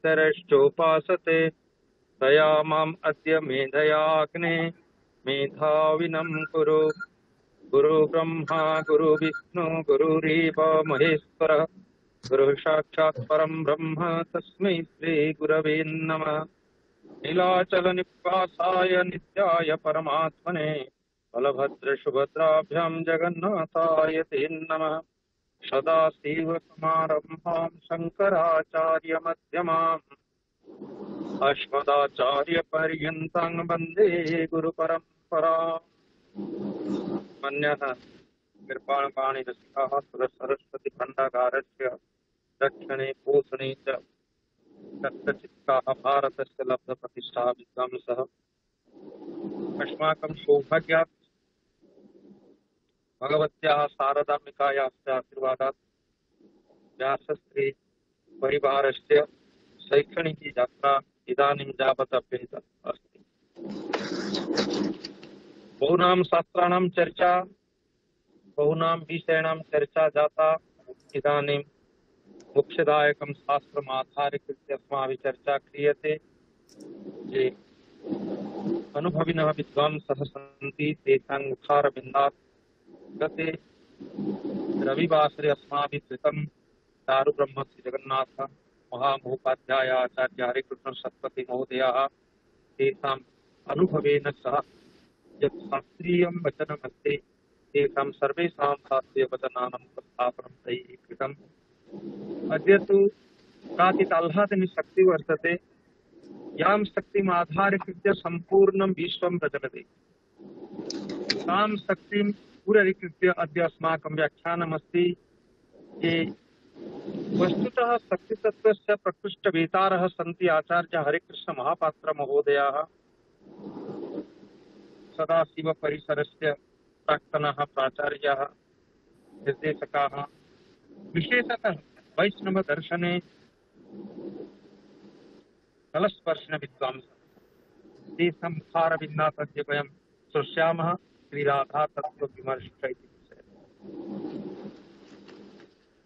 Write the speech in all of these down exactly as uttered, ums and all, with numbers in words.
पितरश्चोपासते तया माम् अद्य मेधयाग्ने मेधाविनं कुरु। गुरु ब्रह्मा गुरु विष्णु गुरुरेव महेश्वरः गुरुः साक्षात् परं ब्रह्म तस्मै श्री गुरवे नमः। नीलाचल निवासाय नित्याय परमात्मने बलभद्र सुभद्राभ्यां जगन्नाथाय ते नमः। सदाशिव समारम्भां शङ्कराचार्य मध्यमाम् अस्मदाचार्यपर्यन्तां वन्दे गुरुपरम्पराम्। मन्यः कृपाणपाणिरसिकः सरस्वतीखण्डागारस्य दक्षिणे पोषणे च तत्तचित्ताः भारतस्य लब्धप्रतिष्ठा विद्वांसः। अस्माकं सौभाग्यात् भगवत्याः शारदाम्बिकायाः आशीर्वादात् व्यासस्त्री परिवारस्य शैक्षणिकी यात्रा इदानीं यावत् अभ्यहिता अस्ति। बहूनां शास्त्राणां चर्चा बहूनां विषयाणां चर्चा जाता। इदानीं मुख्यदायकं शास्त्रम् आधारीकृत्य अस्माभिः चर्चा क्रियते। ये अनुभविनः विद्वांसः सन्ति तेषां मुखारविन्दात् गते रविवासरे अस्माभिः कृतं चारुब्रह्म श्रीजगन्नाथ महामहोपाध्याय आचार्य हरिकृष्ण सरस्वती महोदयाः तेषाम् अनुभवेन सह यत् शास्त्रीयं वचनमस्ति तेषां सर्वेषां शास्त्रीयवचनानां उपस्थापनं तैः कृतम्। अद्य तु काचित् आह्लादनी शक्तिः वर्तते यां शक्तिम् आधारीकृत्य सम्पूर्णं विश्वं प्रचलति। तां शक्तिं पूररीकृत्य अद्य अस्माकं व्याख्यानमस्ति। ये वस्तुतः शक्तितत्त्वस्य प्रकृष्टवेतारः सन्ति आचार्य हरिकृष्ण महापात्र महोदयाः सदाशिवपरिसरस्य प्राक्तनः प्राचार्याः निर्देशकाः विशेषतः वैष्णवदर्शने कलस्पर्शिन विद्वांसः तेषां मुखारविन्दात् अद्य वयं श्रोष्यामः श्रीराधा तत्त्वविमर्श इति विषये।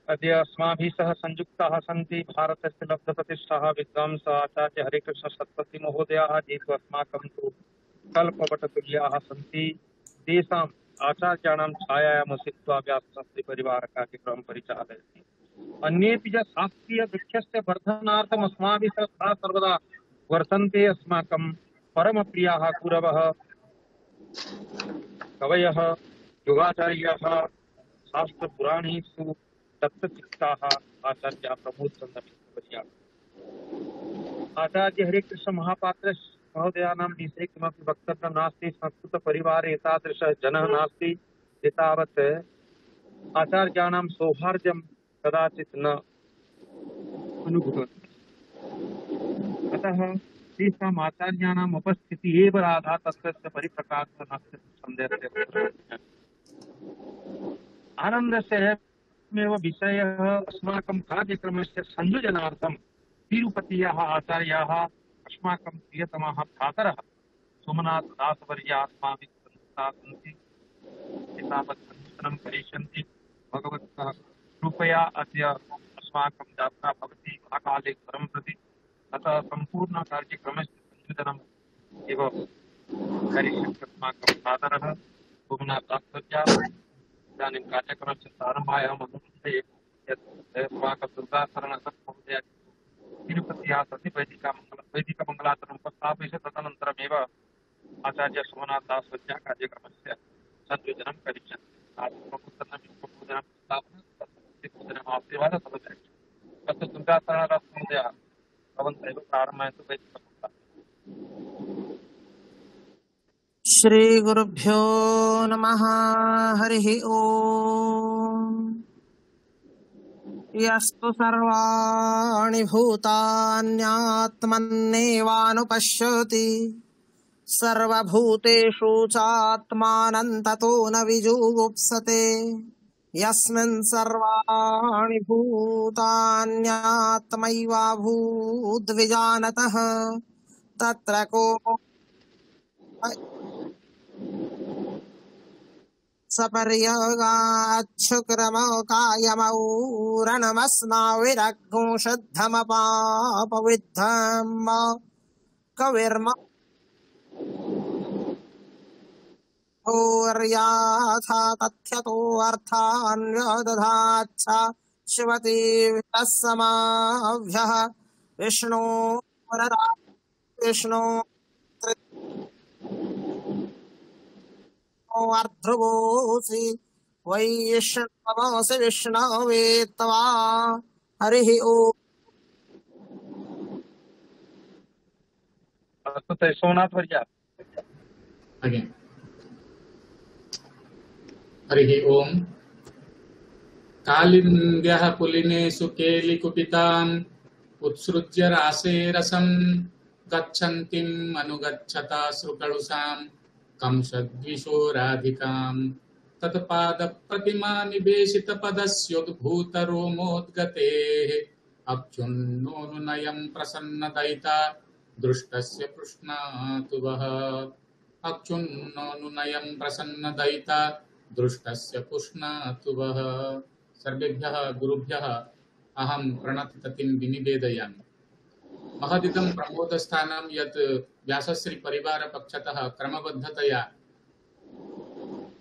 अद्य अस्माभिः सह संयुक्ताः सन्ति भारतस्य लब्धप्रतिष्ठाः विद्वांसः आचार्य हरिकृष्ण सरस्वती महोदयाः ये तु अस्माकं तु कल्पवटतुल्याः सन्ति। तेषाम् आचार्याणां छायायां स्थित्वा व्यासशास्त्रीपरिवारकार्यक्रमं परिचालयति। अन्येपि च शास्त्रीयवृक्षस्य वर्धनार्थम् अस्माभिः सह सर्वदा वर्तन्ते। अस्माकं परमप्रियाः गुरवः कवयः योगाचार्याः शास्त्रपुराणेषु दत्तचित्ताः आचार्याः प्रमोदचन्द्रमिश्रवर्याः। आचार्य हरिकृष्ण महापात्र महोदयानां विषये किमपि वक्तव्यं नास्ति। संस्कृतपरिवारे एतादृशः जनः नास्ति एतावत् आचार्याणां सौहार्द्यं कदाचित् न अनुभूतम्। अतः तेषाम् आचार्याणाम् उपस्थितिः एव राधा तत्त्वस्य परिप्रकाशः नास्ति सन्देहस्य। आनन्दस्य एव विषयः अस्माकं कार्यक्रमस्य संयोजनार्थं तिरुपत्याः आचार्याः अस्माकं प्रियतमाः भ्रातरः सोमनाथदासवर्याः अस्माभिः सन्निहिताः सन्ति। एतावत् सञ्चिन्तनं करिष्यन्ति। भगवतः कृपया अद्य अस्माकं यात्रा भवति महाकालेश्वरं प्रति। अतः सम्पूर्णकार्यक्रमस्य संयोजनम् एव करिष्यन्ति अस्माकं भ्रातरः सोमनाथदासवर्याः। इदानीं कार्यक्रमस्य प्रारम्भाय अहम् अनुमन्ये यत् अस्माकं दुर्गाशरणमहोदय तिरुपत्याः सति वैदिकमङ्गल वैदिकमङ्गलाचरणम् उपस्थापयति। तदनन्तरमेव आचार्य सोमनाथदासवर्यः कार्यक्रमस्य संयोजनं करिष्यन्ति। पूजनं स्थापनं तत्र दुर्गाशरणमहोदयः भवन्तः एव प्रारम्भयन्तु वैदिकमङ्गलाचरणम्। श्रीगुरुभ्यो नमः। हरिः ओम्। यस्तु सर्वाणि भूतान्यात्मन्नेवानुपश्यति सर्वभूतेषु चात्मानं ततो न विजुगुप्सते। यस्मिन् सर्वाणि भूतान्यात्मैवाभूद्विजानतः तत्र को सपर्यगाच्छुक्रमकायमौरणमस्माविरघुंशद्धमपापविद्धम् कविर्म भूर्याथा तथ्यतो अर्थान्यदधाच्च शिवति वितस्समाभ्यः विष्णो विष्णो अर्ध्रुवोऽसि वैष्णवोऽसि विष्णवे तवा हरिः ओम्। अस्तु सोमनाथ वर्य अगेन हरिः ओम्। कालिन्द्यः पुलिनेषु केलिकुपिताम् उत्सृज्य रासे रसम् गच्छन्तीम् अनुगच्छता श्रुकलुषाम् कंसद्विशोराधिकाम् तत्पादप्रतिमा निवेशितपदस्योद्भूतरोमोद्गतेः अक्षुण्णोऽनुनयम् प्रसन्नदयिता दृष्टस्य पृष्णातु वः अक्षुण्णोऽनुनयम् प्रसन्नदयिता दृष्टस्य पुष्णातु वः। सर्वेभ्यः गुरुभ्यः अहं प्रणततिं विनिवेदयामि। महदिदं प्रमोदस्थानं यत् व्यासश्री परिवार पक्षतः क्रमबद्धतया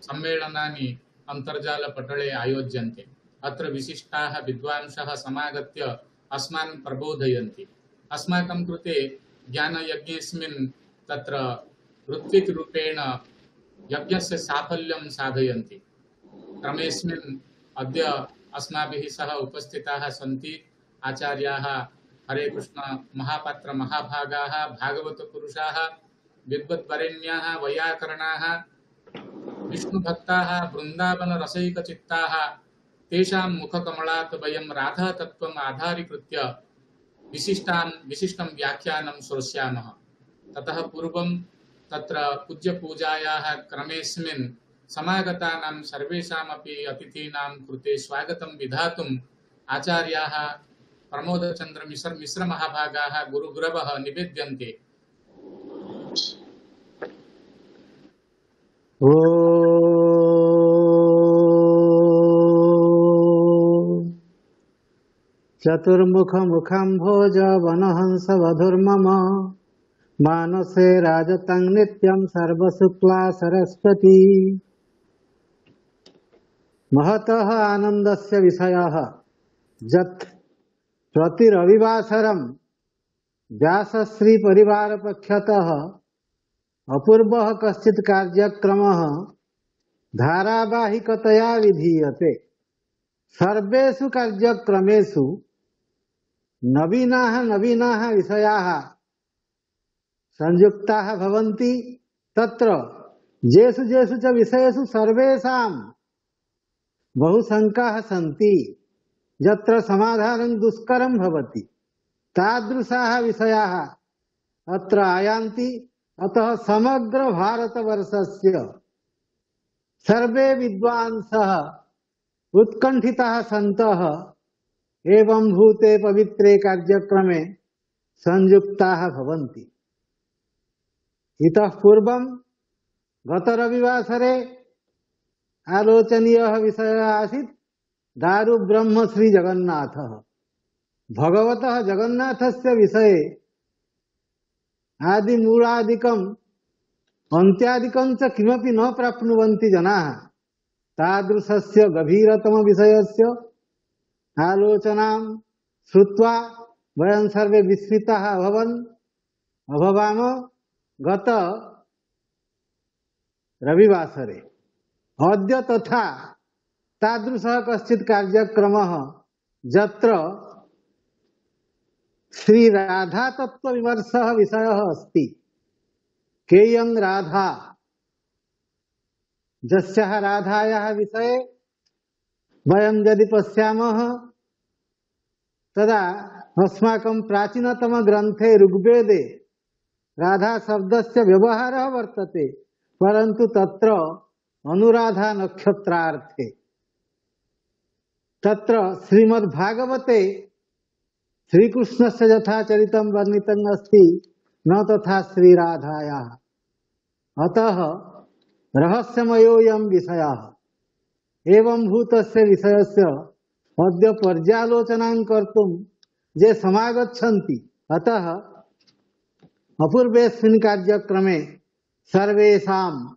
सम्मेलनानि अन्तर्जालपटले आयोज्यन्ते। अत्र विशिष्टाः विद्वांसः समागत्य अस्मान् प्रबोधयन्ति। अस्माकं कृते ज्ञानयज्ञेऽस्मिन् तत्र ऋत्विक्रूपेण यज्ञस्य साफल्यं साधयन्ति। क्रमेऽस्मिन् अद्य अस्माभिः सह उपस्थिताः सन्ति आचार्याः हरे कृष्ण महापात्र महाभागाः भागवतपुरुषाः विद्वद्वरेण्याः वैयाकरणाः विष्णुभक्ताः वृन्दावनरसैकचित्ताः। तेषां मुखकमलात् वयं राधातत्त्वम् आधारीकृत्य विशिष्टां विशिष्टं व्याख्यानं श्रोष्यामः। ततः पूर्वं तत्र पूज्यपूजायाः क्रमेऽस्मिन् समागतानां सर्वेषामपि अतिथीनां कृते स्वागतं विधातुम् आचार्याः प्रमोदचन्द्र मिश्र मिश्र महाभागाः गुरुगुरवः निवेद्यन्ते। ओ चतुर्मुखमुखं भोज वनहंस वधुर्मम मानसे राजतं नित्यं सर्वशुक्ला सरस्वती। महतः आनन्दस्य विषयः यत् प्रतिरविवासरं व्यासश्री परिवार पक्षतः अपूर्वः कश्चित् कार्यक्रमः धारावाहिकतया विधीयते। सर्वेषु कार्यक्रमेषु नवीनाः नवीनाः विषयाः संयुक्ताः भवन्ति। तत्र येषु येषु च विषयेषु सर्वेषां बहुशङ्काः सन्ति, यत्र समाधानं दुष्करं भवति, तादृशाः विषयाः अत्र आयान्ति। अतः समग्र भारतवर्षस्य सर्वे विद्वांसः उत्कण्ठिताः सन्तः एवं भूते पवित्रे कार्यक्रमे संयुक्ताः भवन्ति। इतः पूर्वं गतरविवासरे आलोचनीयः विषयः आसीत् दारु ब्रह्म श्री जगन्नाथः। भगवतः जगन्नाथस्य विषये आदिमूलादिकम् अन्त्यादिकं च किमपि न प्राप्नुवन्ति जनाः। तादृशस्य गभीरतम विषयस्य आलोचनां श्रुत्वा वयं सर्वे विस्मिताः अभवन् अभवाम गत रविवासरे। अद्य तथा तादृशः कश्चित् कार्यक्रमः यत्र श्री राधा तत्व विमर्शः विषयः अस्ति। केयं राधा, यस्याः राधायाः विषये वयं यदि पश्यामः तदा अस्माकं प्राचीनतम ग्रन्थे ऋग्वेदे राधा शब्दस्य व्यवहारः वर्तते, परन्तु तत्र अनुराधा नक्षत्रार्थे। तत्र श्रीमद्भागवते श्रीकृष्णस्य यथा चरितं वर्णितं अस्ति न तथा श्रीराधायाः। अतः रहस्यमयोऽयं विषयः। एवं भूतस्य विषयस्य अद्य पर्यालोचनां कर्तुं ये समागच्छन्ति, अतः अपूर्वेऽस्मिन् कार्यक्रमे सर्वेषां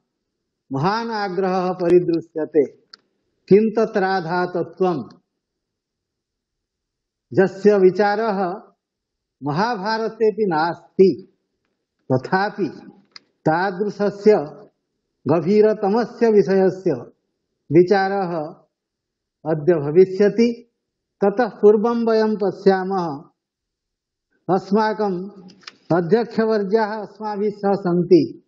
महान् आग्रहः परिदृश्यते। किं तत् राधातत्त्वं, यस्य विचारः महाभारतेऽपि नास्ति, तथापि तादृशस्य गभीरतमस्य विषयस्य विचारः अद्य भविष्यति। ततः पूर्वं वयं पश्यामः, अस्माकम् अध्यक्षवर्याः अस्माभिः सह सन्ति,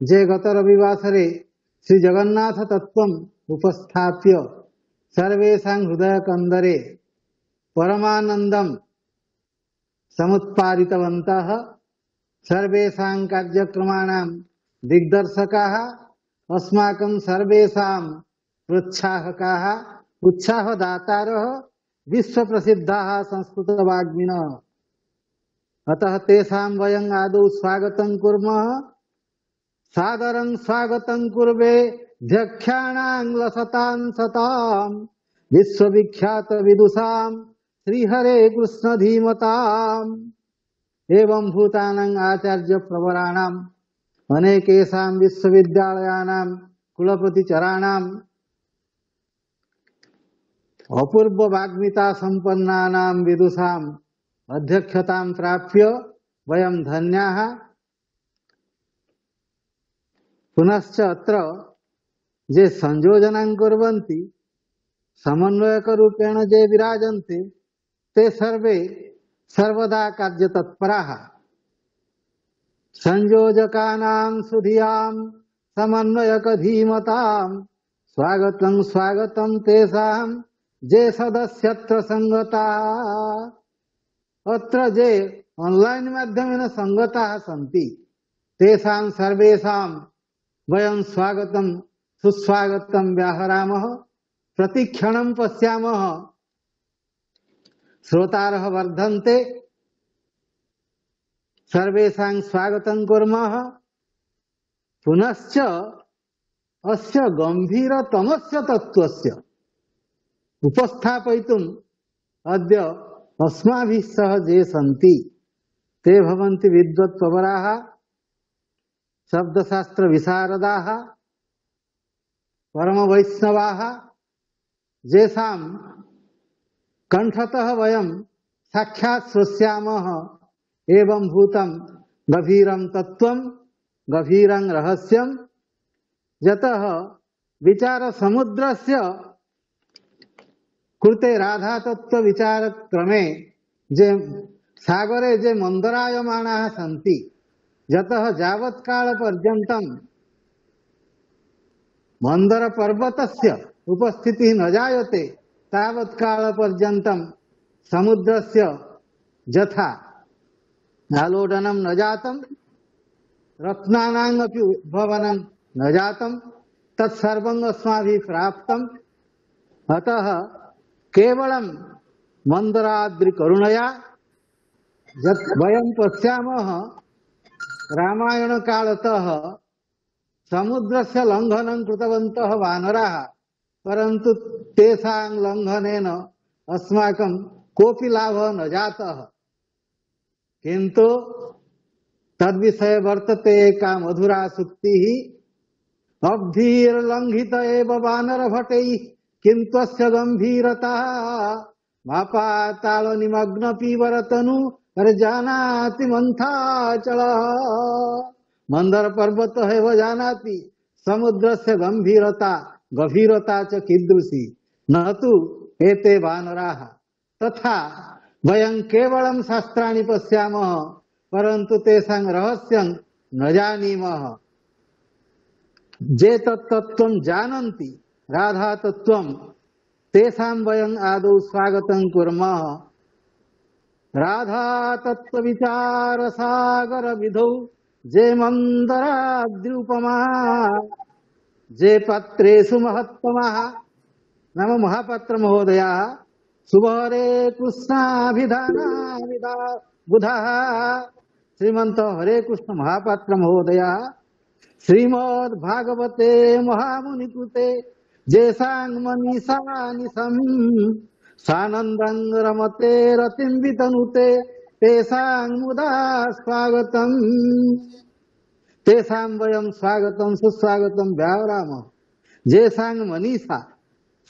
ये गतरविवासरे श्रीजगन्नाथतत्त्वम् उपस्थाप्य सर्वेषां हृदयकन्दरे परमानन्दं समुत्पादितवन्तः। सर्वेषां कार्यक्रमाणां दिग्दर्शकाः, अस्माकं सर्वेषां प्रोत्साहकाः, उत्साहदातारः, विश्वप्रसिद्धाः संस्कृतवाग्मिनः। अतः तेषां वयं आदौ स्वागतं कुर्मः। सादरं स्वागतं कुर्वे ध्यक्षाणां लसतां सतां विश्वविख्यात विदुषां श्रीहरे कृष्ण धीमताम्। एवं भूतानां आचार्य प्रवराणाम् अनेकेषां विश्वविद्यालयानां कुलपतिचराणाम् अपूर्व वाग्मिता संपन्नानां विदुषाम् अध्यक्षतां प्राप्य वयं धन्याः। पुनश्च अत्र ये संयोजनां कुर्वन्ति, समन्वयकरूपेण ये विराजन्ते, ते सर्वे सर्वदा कार्यतत्पराः। संयोजकानां सुधियां समन्वयक धीमतां स्वागतं स्वागतं तेषां ये सदस्यत्र संगताः। अत्र ये ऑनलाइन माध्यमेन संगताः सन्ति, तेषां सर्वेषां वयं स्वागतं सुस्वागतं व्याहरामः। प्रतिक्षणं पश्यामः, श्रोतारः वर्धन्ते, सर्वेषां स्वागतं कुर्मः। पुनश्च अस्य गंभीरतमस्य तत्त्वस्य उपस्थापयितुम् अद्य अस्माभिः सह ये सन्ति, ते भवन्ति विद्वत्प्रवराः, शब्दशास्त्र विशारदाः, परमवैष्णवाः, येषां कंठतः वयं साक्षात् श्रोष्यामः एवं भूतं गभीरं तत्त्वं, गभीरं रहस्यं, यतः विचार समुद्रस्य कृते राधा तत्व विचार क्रमे जे सागरे जे मंदरायमाणाः सन्ति, यतः यावत्काल पर्यन्तं मंदर पर्वतस्य उपस्थितिः न जायते, तावत्काल पर्यन्तं समुद्रस्य यथा आलोडनं न जातं, रत्नानाम् अपि उद्भवनं न जातं, तत्सर्वम् अस्माभिः प्राप्तम्। अतः केवलं मंदराद्रिकरुणया यत् वयं पश्यामः, रामायणकालतः समुद्रस्य लङ्घनं कृतवन्तः वानराः, परन्तु तेषां लङ्घनेन अस्माकं कोऽपि लाभः न जातः। किन्तु तद्विषये वर्तते एका मधुरा सूक्तिः, अब्धिर्लङ्घित एव वानरभटैः किन्तस्य गम्भीरता मापातालनिमग्न पीवरतनु जानाति मंथाचलः। मंदर पर्वतः एव जानाति समुद्रस्य गंभीरता गभीरता च कीदृशी, न तु एते वानराः। तथा वयं केवलं शास्त्राणि पश्यामः, परन्तु तेषां रहस्यं न जानीमः। जे तत्तत्त्वं जानन्ति, राधा तत्त्वं, तेषां वयं आदौ स्वागतं कुर्मः। राधा तत्त्व विचार सागर विधौ जे मंदराद्युपमा, जे पत्रेषु महत्तमः नाम महापात्र महोदयाः सुबहरे कृष्णाभिधानाभिधा बुधः श्रीमंत हरे कृष्ण महापात्र महोदयाः श्रीमद् भागवते महामुनिकृते जेसांग मनीषा निशम सानंदं रमते रतिं वितनुते तेषां मुदा स्वागतम् तेषां वयं स्वागतं सुस्वागतं व्याहरामः जेसांग मनीषा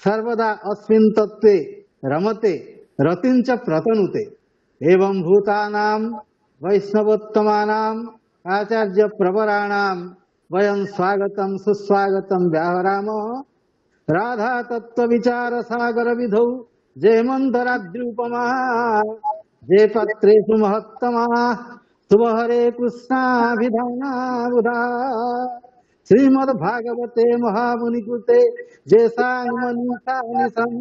सर्वदा अस्मिन् तत्त्वे रमते रतिं च प्रतनुते एवं भूतानां वैष्णवोत्तमानां आचार्य प्रवराणां वयं स्वागतं सुस्वागतं व्याहरामः राधा तत्व विचार सागर विधौ जयमंतराद्युपमा जय पत्रेषु महत्तमा शुभ हरे कृष्णाभिधाना बुधा श्रीमद्भागवते महामुनिकृते जैसांग मनीषा निशम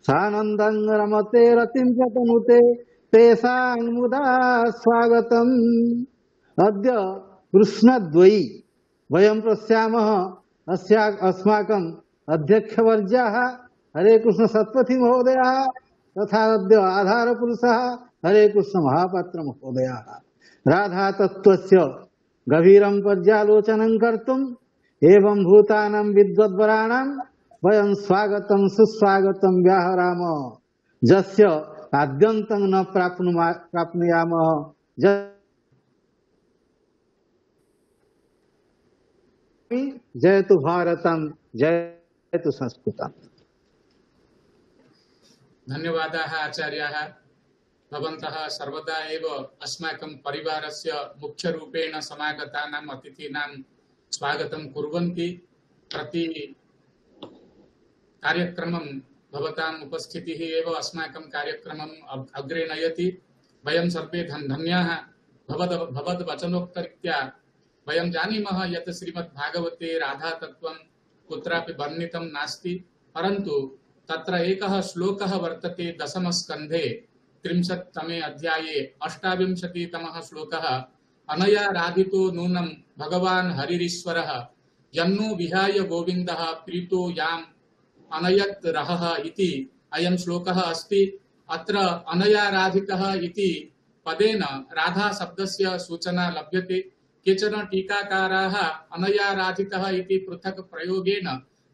सानंदं रमते रतिं च तनुते तेषां मुदा स्वागतम् अद्य कृष्णद्वयी वयं पश्यामः अस्या अस्माकं अध्यक्षवर्याः हरे कृष्ण सत्पथि महोदयाः तथा अद्य आधारपुरुषः हरे कृष्ण महापात्र महोदयाः राधा तत्त्वस्य गभीरं पर्यालोचनं कर्तुम् एवं भूतानां विद्वद्वराणां वयं स्वागतं सुस्वागतं व्याहरामः जस्य आद्यन्तं न प्राप्नुमा प्राप्नुयामः जयतु भारतं जयतु संस्कृतम्। धन्यवादाः आचार्याः। भवन्तः सर्वदा एव अस्माकं परिवारस्य मुख्यरूपेण समागतानाम् अतिथीनां स्वागतं कुर्वन्ति। प्रति कार्यक्रमं भवताम् उपस्थितिः एव अस्माकं कार्यक्रमम् अग्रे नयति। वयं सर्वे धन्याः। भवद् भवद्वचनोक्तरीत्या वयं जानीमः यत् श्रीमद्भागवते राधातत्त्वं कुत्रापि वर्णितं नास्ति, परन्तु तत्र एकः श्लोकः वर्तते दशमस्कन्धे त्रिंशत्तमे अध्याये अष्टाविंशतितमः श्लोकः। अनया राधितो नूनं भगवान् हरिरीश्वरः यन्नो विहाय गोविन्दः प्रीतो याम् अनयत् रहः इति अयं श्लोकः अस्ति। अत्र अनया राधितः इति पदेन राधा शब्दस्य सूचना लभ्यते। केचन टीकाकाराः अनया राधितः इति पृथक् प्रयोगेन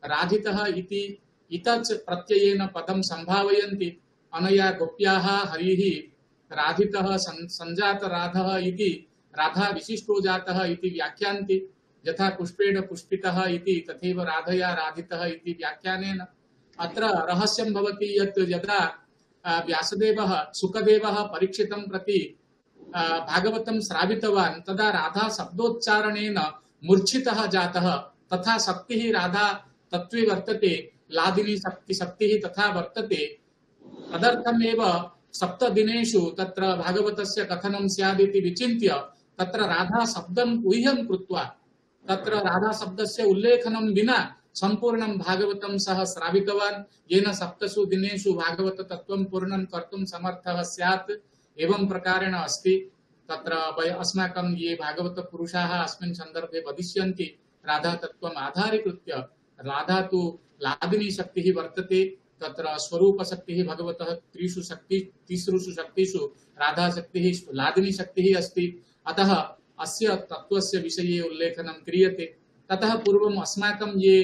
राधितः इति इतच् प्रत्ययेन पदं संभावयन्ति। अनया गोप्याः हरिः राधितः संजात राधः इति राधा विशिष्टो जातः इति व्याख्यान्ति। यथा पुष्पेण पुष्पितः इति तथैव राधया राधितः इति व्याख्यानेन अत्र रहस्यं भवति यत् यदा व्यासदेवः सुखदेवः परीक्षितं प्रति भागवतं श्रावितवान् तदा राधा शब्दोच्चारणेन मूर्छितः जातः। तथा शक्तिः राधा तत्त्वे वर्तते, लादिनी शक्ति शक्तिः तथा वर्तते। तदर्थमेव सप्तदिनेषु तत्र भागवतस्य कथनं स्यादिति विचिन्त्य तत्र राधा शब्दं ऊह्यं कृत्वा तत्र राधा शब्दस्य उल्लेखनं विना संपूर्णं भागवतं सः श्रावितवान्, येन सप्तसु दिनेषु भागवत तत्त्वं पूर्णं कर्तुं समर्थः स्यात्। एवं प्रकारेण अस्ति। तत्र वय अस्माकं ये भागवत पुरुषाः अस्मिन् सन्दर्भे वदिष्यन्ति राधा तत्त्वम् आधारीकृत्य राधा तु लादिनी शक्तिः वर्तते। तत्र स्वरूप शक्तिः भगवतः त्रिषु शक्ति तिसृषु शक्तिषु राधा शक्तिः लादिनी शक्तिः अस्ति। अतः अस्य तत्त्वस्य विषये उल्लेखनं क्रियते। ततः पूर्वम् अस्माकं ये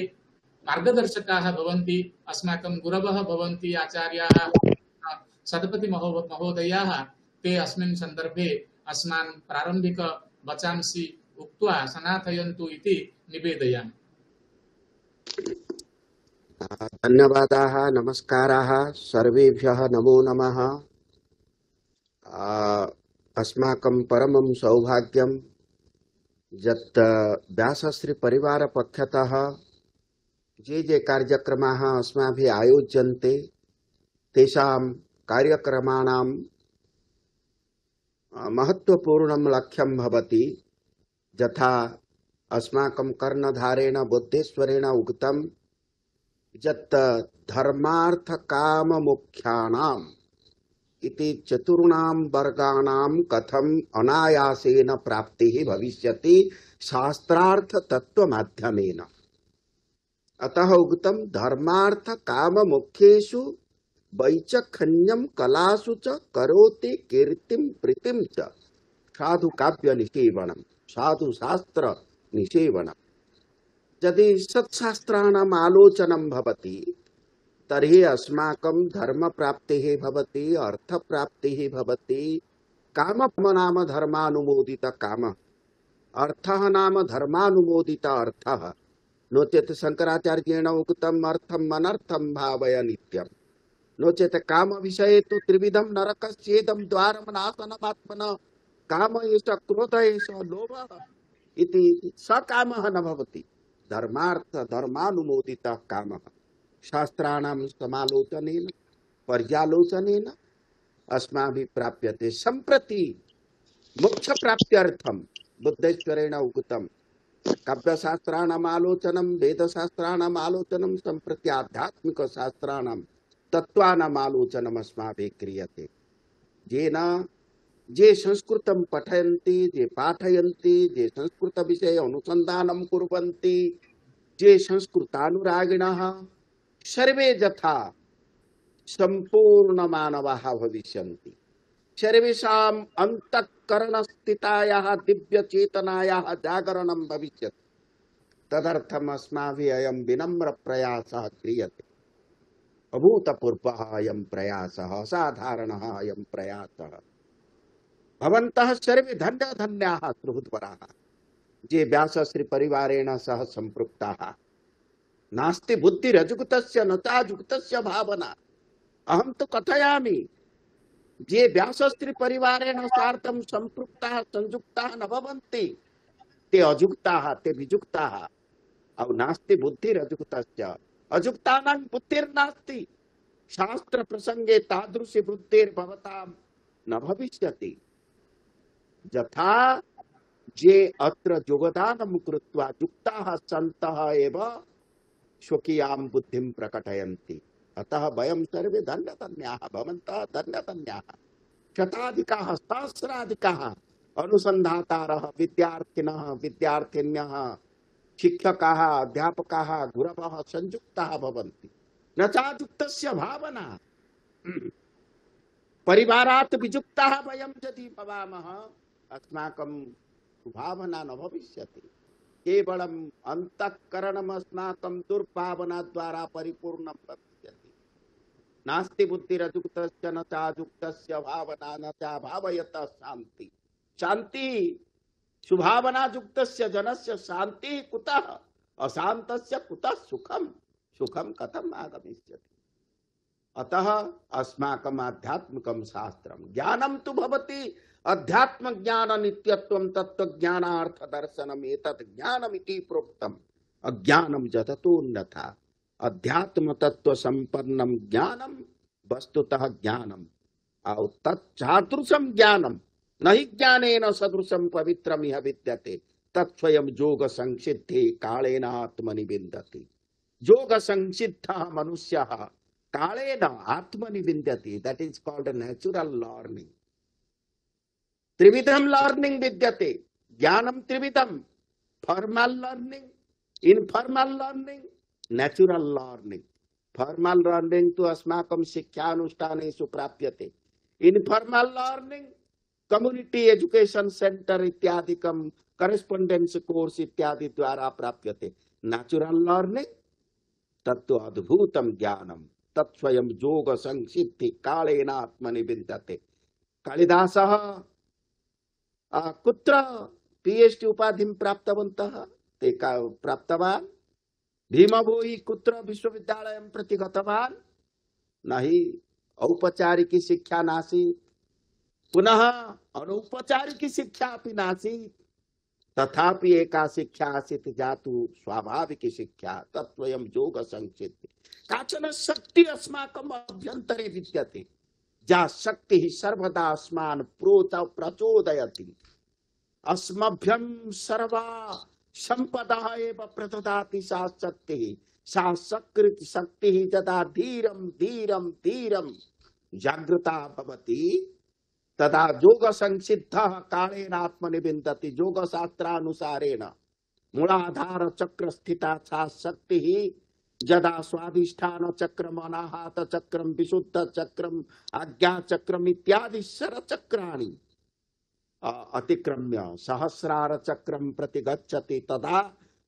मार्गदर्शकाः भवन्ति, अस्माकं गुरवः भवन्ति, आचार्याः सतपति महोदयाः, ते अस्मिन् सन्दर्भे अस्मान् प्रारम्भिक वचांसि उक्त्वा सनाथयन्तु इति निवेदयामि। धन्यवादाः, नमस्काराः, सर्वेभ्यः नमो नमः। अस्माकं परमं सौभाग्यं यत् व्यासश्री परिवार पक्षतः ये ये कार्यक्रमाः अस्माभिः आयोज्यन्ते तेषां कार्यक्रमाणां महत्वपूर्णं लक्ष्यं भवति। यथा अस्माकं कर्णधारेण बुद्धेश्वरेण उक्तं यत् धर्मार्थ काम मोक्षाणाम् इति चतुर्णां वर्गाणां कथम् अनायासेन प्राप्तिः भविष्यति शास्त्रार्थ तत्व माध्यमेन। अतः उक्तं धर्मार्थ काम मोक्षेषु वैचखन्यं कलासु च करोति कीर्तिं प्रीतिं च साधु काव्य निषेवनम् साधु शास्त्र निषेवनम्। यदि सत्शास्त्राणाम् आलोचनं भवति तर्हि अस्माकं धर्मप्राप्तिः भवति, अर्थप्राप्तिः भवति। कामः नाम धर्मानुमोदित कामः, अर्थः नाम धर्मानुमोदित अर्थः। नो चेत् शंकराचार्येण उक्तम् अर्थम् अनर्थं भावय नित्यम्। नो चेत् काम विषये तु त्रिविधं नरकस्येदं द्वारं नाशनमात्मनः। काम एष, क्रोध एष, लोभः इति सकामः न भवति। धर्मार्थ धर्मानुमोदितः कामः शास्त्राणां समालोचनेन पर्यालोचनेन अस्माभिः प्राप्यते। सम्प्रति मोक्ष प्राप्त्यर्थं बुद्धेश्वरेण उक्तं काव्यशास्त्राणाम् आलोचनं, वेदशास्त्राणाम् आलोचनं, सम्प्रति आध्यात्मिकशास्त्राणां तत्त्वानाम् आलोचनम् अस्माभिः क्रियते। येन ये संस्कृतं पठयन्ति, ये पाठयन्ति, ये संस्कृतविषये अनुसन्धानं कुर्वन्ति, ये संस्कृतानुरागिणः सर्वे यथा संपूर्ण मानवाः भविष्यन्ति। सर्वेषाम् अन्तःकरणस्थितायाः दिव्यचेतनायाः जागरणं भविष्यति। तदर्थम् अस्माभिः अयं विनम्र प्रयासः क्रियते। अभूतपूर्वः अयं प्रयासः, असाधारणः अयं प्रयासः। भवन्तः सर्वे धन्य धन्याः सुहृद्वराः ये व्यासश्री परिवारेण सह सम्पृक्ताः। नास्ति बुद्धिरजुगतस्य न चाजुगतस्य भावना। अहं तु कथयामि, ये व्यासश्री परिवारेण सार्धं सम्पृक्ताः संयुक्ताः न भवन्ति ते अजुक्ताः, ते विजुक्ताः। औ नास्ति बुद्धिरजुगतस्य, अजुक्तानां बुद्धिर्नास्ति। शास्त्र प्रसंगे तादृशी बुद्धिर्भवतां न भविष्यति। यथा ये अत्र योगदानं कृत्वा युक्ताः सन्तः एव स्वकीयां बुद्धिं प्रकटयन्ति। अतः वयं सर्वे धन्यधन्याः, भवन्तः धन्यधन्याः। शताधिकाः सहस्राधिकाः अनुसन्धातारः, विद्यार्थिनः, विद्यार्थिन्यः, शिक्षकाः, अध्यापकाः, गुरवः संयुक्ताः भवन्ति। न चाजुक्तस्य भावना। परिवारात् विजुक्ताः वयं यदि भवामः अस्माकं भावना न भविष्यति। केवलम् अन्तःकरणम् अस्माकं दुर्भावना द्वारा परिपूर्णं भविष्यति। नास्ति बुद्धिरजुक्तस्य न चाजुक्तस्य भावना न चा भावयतः शान्ति। शान्ति सुभावना युक्तस्य जनस्य शान्तिः कुतः? अशान्तस्य कुतः सुखम्? सुखं कथम् आगमिष्यति? अतः अस्माकम् आध्यात्मिकं शास्त्रं ज्ञानं तु भवति। अध्यात्म ज्ञान नित्यत्वं तत्त्वज्ञानार्थ दर्शनम् एतत् ज्ञानमिति प्रोक्तम्। अज्ञानं जगतोऽन्यथा। अध्यात्म तत्व संपन्नं ज्ञानं वस्तुतः ज्ञानम्। और तत्सादृशं ज्ञानं न हि ज्ञानेन सदृशं पवित्रम् इह विद्यते। तत्स्वयं योग संसिद्धि कालेन आत्मनि विन्दति। योग संसिद्धः मनुष्यः कालेन आत्मनि विन्दति। That is called natural learning. त्रिविधम लर्निंग विद्यते। ज्ञानम त्रिविधम, formal learning, informal learning, natural learning. Formal learning तो अस्माकं शिक्षानुष्ठानेषु प्राप्यते। Informal learning community education centre इत्यादिकं करेस्पोंडेंस कोर्स इत्यादि द्वारा प्राप्यते। नेचुरल लर्निंग तत्तु अद्भुतं ज्ञानं तत्स्वयं योग संसिद्धि कालेन आत्मनि विन्दते। कालिदासः कुत्र पीएचडी उपाधिं प्राप्तवन्तः? ते प्राप्तवान्। भीमभोई कुत्र विश्वविद्यालयं प्रति गतवान्? न हि औपचारिकी शिक्षा नासीत्, पुनः अनौपचारिकी शिक्षा अपि नासीत्। तथापि एका शिक्षा आसीत् जातु स्वाभाविकी शिक्षा, तत्स्वयं योग संसिद्धि। काचन शक्ति अस्माकम् अभ्यन्तरे विद्यते, या शक्तिः सर्वदा अस्मान् प्रोच प्रचोदयति। अस्मभ्यं सर्वा संपदा एव प्रददाति सा शक्तिः। सा सकृत् शक्तिः यदा धीरं धीरं धीरं जागृता भवति तदा योग संसिद्धः कालेन आत्मनि विन्दति। योग शास्त्रानुसारेण मूलाधार चक्र स्थिता सा शक्तिः यदा स्वाधिष्ठान चक्रम, अनाहत चक्रम, विशुद्ध चक्रम, आज्ञा चक्रम इत्यादि शर चक्राणि अतिक्रम्य सहस्रार चक्रम प्रति गच्छति तदा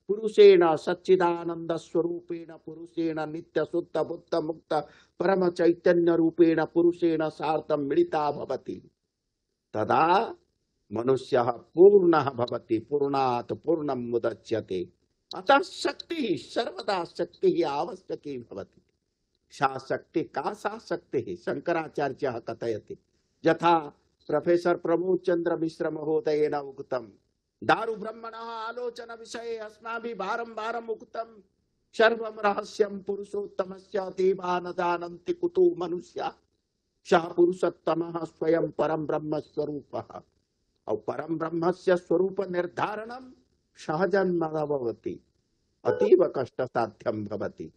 पुरुषेण सच्चिदानंद स्वरूपेण पुरुषेण नित्य शुद्ध बुद्ध मुक्त परम चैतन्य रूपेण पुरुषेण सार्धं मिलिता भवति तदा मनुष्यः पूर्णः भवति पूर्णात् पूर्णं मुदच्यते अतः शक्तिः सर्वदा शक्तिः आवश्यकी भवति सा शक्ति का सा शक्तिः शंकराचार्यः कथयति यथा प्रोफेसर प्रमोद चंद्र मिश्र महोदयेन उक्तम् दारु ब्रह्मणः आलोचन विषये अस्माभिः बारंबारम् उक्तम् सर्वं रहस्यं पुरुषोत्तमस्य देवा न जानन्ति कुतो मनुष्याः सः पुरुषोत्तमः स्वयं परम ब्रह्म स्वरूपः और परम ब्रह्मस्य स्वरूप निर्धारणं सहजं न भवति अतीव कष्ट साध्यं भवति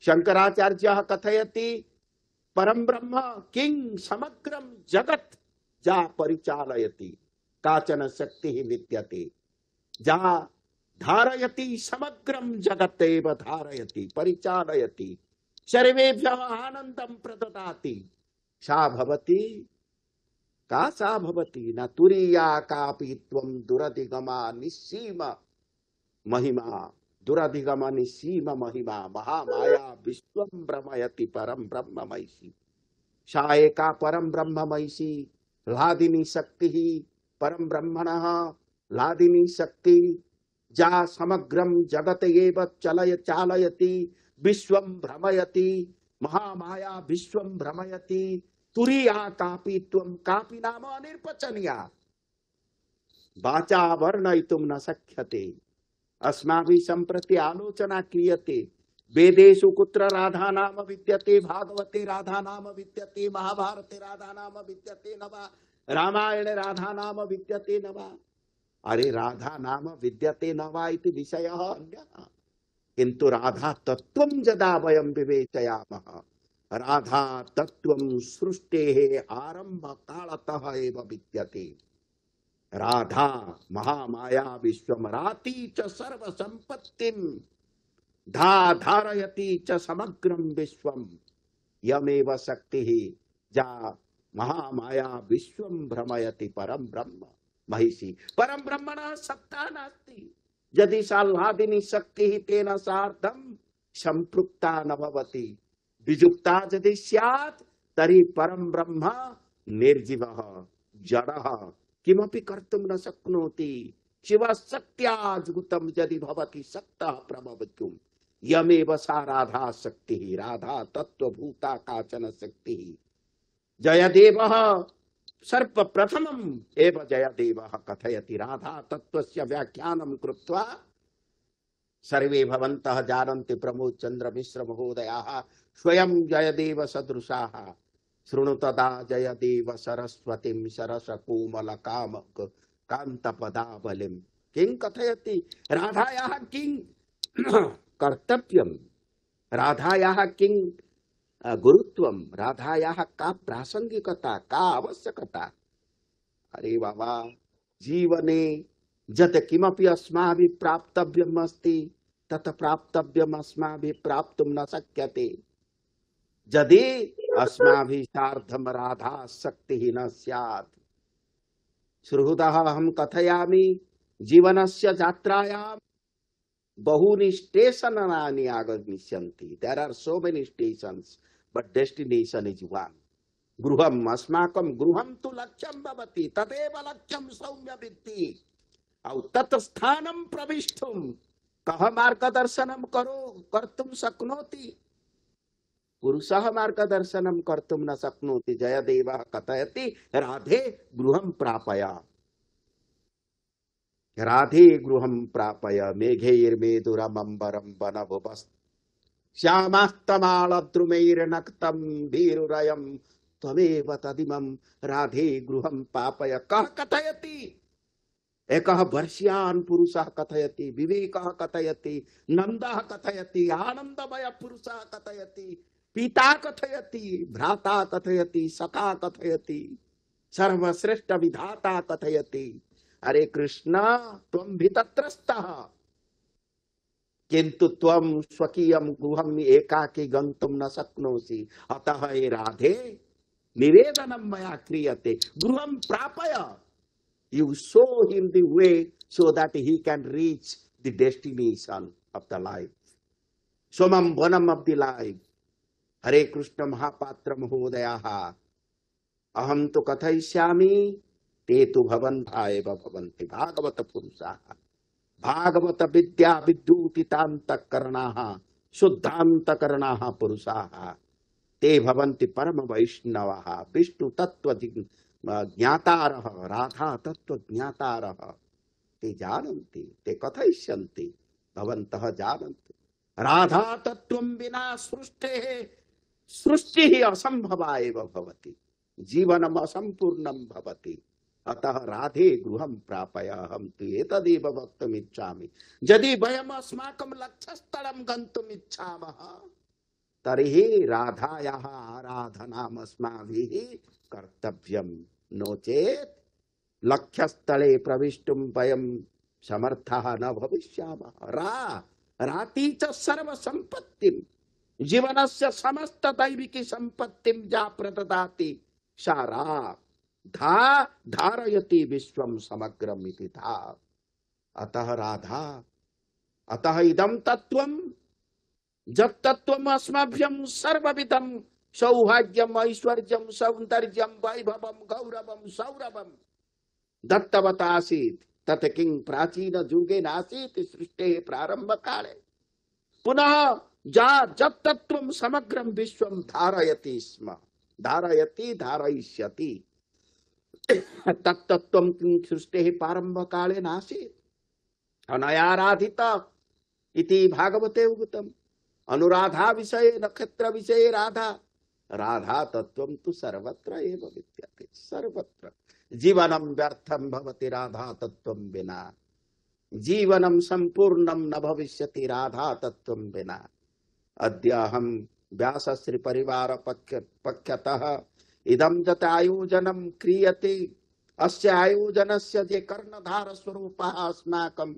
शंकराचार्यः कथयति परम ब्रह्म किं समग्रं जगत् जा परिचालयति काचन शक्तिः विद्यते जा धारयति समग्रं जगत् एव धारयति परिचालयति सर्वेभ्यः आनन्दं प्रददाति सा भवति का सा भवति न तुरीया कापि त्वं दुरधिगमा निस्सीम महिमा दुरधिगम निस्सीम महिमा महामाया विश्वं भ्रमयति परम ब्रह्ममयी सा एका परम ब्रह्ममयी लादिनी शक्ति परम ब्रह्मणः लादिनी शक्ति जा समग्रं जगत एव चलय चालयति विश्वं भ्रमयति महामाया विश्वं भ्रमयति तुरीया कापि त्वं कापि नाम अनिर्वचनीया वाचा वर्णयितुं न शक्यते अस्माभिः सम्प्रति आलोचना क्रियते वेदेषु कुत्र राधा नाम विद्यते भागवते राधा नाम विद्यते महाभारते राधा नाम विद्यते न वा रामायणे राधा नाम विद्यते न वा अरे राधा नाम विद्यते न वा इति विषयः अन्यः किन्तु राधा तत्त्वं यदा वयं विवेचयामः राधा तत्त्वं सृष्टेः आरम्भकालतः एव विद्यते राधा महामाया विश्वमराती च सर्वसम्पत्तिं धा धारयति च समग्रं विश्वं यमेव शक्तिः जा महामाया विश्वं भ्रमयति परम ब्रह्म महिषी परम ब्रह्मणः सत्ता नास्ति यदि सा लादिनी शक्तिः तेन सार्धं संपृक्ता न भवति विजुक्ता यदि स्यात् तर्हि परम ब्रह्म निर्जीवः जडः किमपि कर्तुं न शक्नोति शिवशक्त्या जुगुतं यदि भवति शक्तः प्रभवितुं यमेव सा राधा शक्तिः राधा तत्त्वभूता काचन शक्तिः जयदेवः सर्वप्रथमम् एव जयदेवः कथयति राधा तत्त्वस्य व्याख्यानं कृत्वा सर्वे भवन्तः जानन्ति प्रमोद चंद्र मिश्र महोदयाः स्वयं जयदेव सदृशाः शृणुतदा जयदेव सरस्वतीं सरसकोमल काम कान्तपदावलिं किं कथयति राधायाः किं कर्तव्यं राधायाः किं गुरुत्वं राधायाः का प्रासंगिकता का आवश्यकता अरे बाबा जीवने यत् किमपि अस्माभिः प्राप्तव्यम् अस्ति तत् प्राप्तव्यम् अस्माभिः प्राप्तुं न शक्यते यदि अस्माभिः सार्धं राधा शक्तिः न स्यात् सुहृदः अहं कथयामि जीवनस्य यात्रायां बहूनि स्टेशनानि आगमिष्यन्ति there are so many stations but destination is one गृहम् अस्माकं गृहं तु लक्ष्यं भवति तदेव लक्ष्यं सौम्य विद्धि औ तत् स्थानं प्रविष्टुं कः मार्गदर्शनं करो कर्तुं शक्नोति पुरुषः मार्गदर्शनं कर्तुं न शक्नोति जयदेवः कथयति राधे गृहं प्रापय राधे गृहं प्रापय मेघैर्मेदुरमम्बरं वनभुवस् श्यामास्तमालद्रुमैर्नक्तं भीरुरयं त्वमेव तदिमं राधे गृहं प्रापय कः कथयति एकः वर्ष्यान् पुरुषः कथयति विवेकः कथयति नन्दः कथयति आनन्दमय पुरुषः कथयति पिता कथयति भ्राता कथयति सखा कथयति सर्वश्रेष्ठ विधाता कथयति अरे कृष्ण त्वं भी तत्रस्थः किन्तु त्वं स्वकीयं गृहम् एकाकी गन्तुं न शक्नोषि अतः हे राधे निवेदनं मया क्रियते गृहं प्रापय you show him the way so that he can reach the destination of the life. Somam bonam of the life. Hare Krishna Mahapatra Mahodaya. Aham tu kathayishyami te tu bhavantha eva bhavanti. Bhagavata Purusaha. Bhagavata Vidya Viddutitanta Karanaha. Suddhanta Karanaha Purusaha. Te bhavanti Parama Vaishnavaha. Vishnu Tattva Jnataraha. Radha Tattva Jnataraha. Te jananti. Te kathayishyanti. Bhavantah jananti. Radha Tattvam Vina Srushte. Srushti Asambhava eva bhavati. Jivanam asampurnam bhavati. Atah radhe gruham prapayaham tu etadeva bhaktam ichchami. Jadi vayam asmakam lakshasthalam gantum ichchamaha. Tarihi radhayaha aradhanam asmavihi kartavyam. No chet lakshasthale pravishtum vayam samarthaha na bhavishyamaha. Ra rati cha sarva sampattim. जीवनस्य समस्त दैविकी संपत्तिं जा प्रददाति सारा धा धारयति विश्वं समग्रम इति धा. अतः राधा अतः इदं तत्वं जब तत्वम अस्मभ्यं सर्वविधं सौभाग्यम ऐश्वर्यं सौंदर्यं वैभवं गौरवं सौरभं दत्तवतासीत् तत् किं प्राचीन जुगे नासीत् सृष्टेः प्रारंभ काले. पुनः जा जब तत्वम समग्रम विश्वम धारयति स्म. धारयति धारयिष्यति. तत्तत्वम सृष्टेः प्रारंभ काले नासीत्. अनयाराधित इति भागवते उक्तम्. अनुराधा विषये नक्षत्र विषये राधा. राधा तत्वम तु सर्वत्र एव विद्यते. सर्वत्र. जीवनम व्यर्थम भवति राधा तत्वम विना. जीवनम संपूर्णम न भविष्यति राधा तत्वम विना. अद्य अहम व्यासश्री परिवार पक्ष पक्षतः इदं जत आयोजनं क्रियते. अस्य आयोजनस्य जे कर्णधार स्वरूपः अस्माकं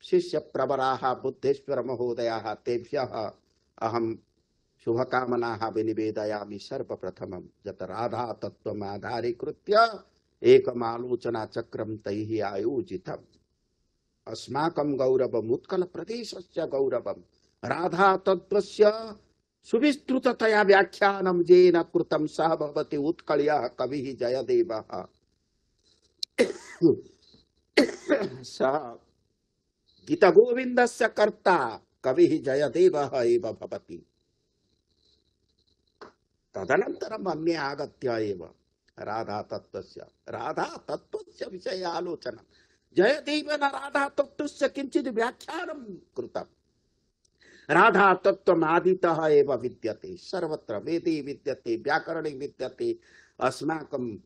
शिष्य प्रवराः बुद्धेश्वर महोदयाः तेभ्यः अहं शुभकामनाः विनिवेदयामि. सर्वप्रथमं जत राधा तत्त्वम् आधारीकृत्य एकम् आलोचना चक्रं तैः आयोजितम्. अस्माकं गौरवम् उत्कल प्रदेशस्य गौरवम्. राधा तत्त्वस्य सुविस्तृततया व्याख्यानं येन कृतं सः भवति उत्कलयः कविः जयदेवः. सः गीतगोविन्दस्य कर्ता कविः जयदेवः एव भवति. तदनन्तरम् अन्ये आगत्य एव राधा तत्त्वस्य राधा तत्त्वस्य विषये आलोचना. जयदेवेन राधा तत्त्वस्य किञ्चित् व्याख्यानं कृतम्. राधा तत्त्वम् आदितः एव विद्यते. सर्वत्र वेदे विद्यते, व्याकरणे विद्यते, अस्माकं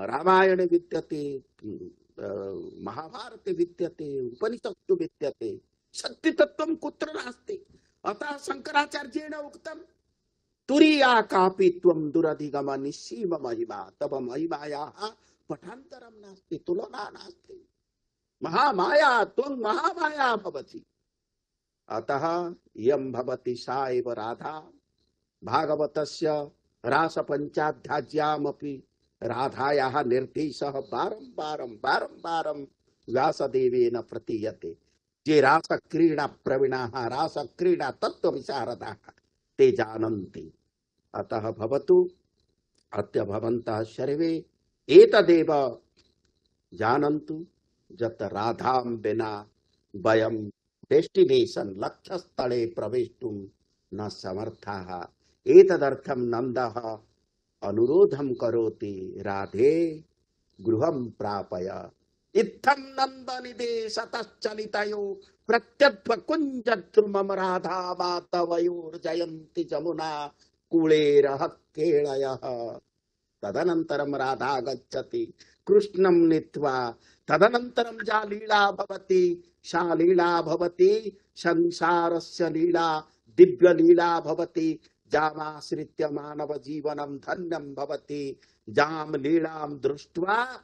रामायणे विद्यते, महाभारते विद्यते, उपनिषत्सु विद्यते. शक्ति तत्त्वं कुत्र नास्ति. अतः शंकराचार्येण उक्तं तुरीया कापि त्वं दुरधिगम निस्सीम महिमा. तव महिमायाः पठान्तरं नास्ति, तुलना नास्ति. महामाया त्वं महामाया भवति. अतः यं भवति सा एव राधा. भागवतस्य रासपञ्चाध्याय्यामपि राधायाः निर्देशः बारम्बारं बारम्बारं व्यासदेवेन प्रतीयते. ये रासक्रीडा प्रवीणाः रासक्रीडा तत्त्वविशारदाः ते जानन्ति. अतः भवतु अद्य भवन्तः सर्वे एतदेव जानन्तु यत् राधां विना वयं डेस्टिनेशन लक्ष्यस्थले प्रवेष्टुं न समर्थाः. एतदर्थं नन्दः अनुरोधं करोति राधे गृहं प्रापय. इत्थं नन्दनिदेशतश्चलितयो प्रत्यध्वकुञ्जद्रुमं राधा मातवयोर्जयन्ति जमुना कूलेरः केळयः. तदनन्तरं राधा गच्छति कृष्णं नीत्वा. तदनन्तरं या लीला भवति सा लीला भवति संसारस्य लीला दिव्य लीला भवति. जामाश्रित्य मानव जीवनं धन्यं भवति. जाम लीलां दृष्ट्वा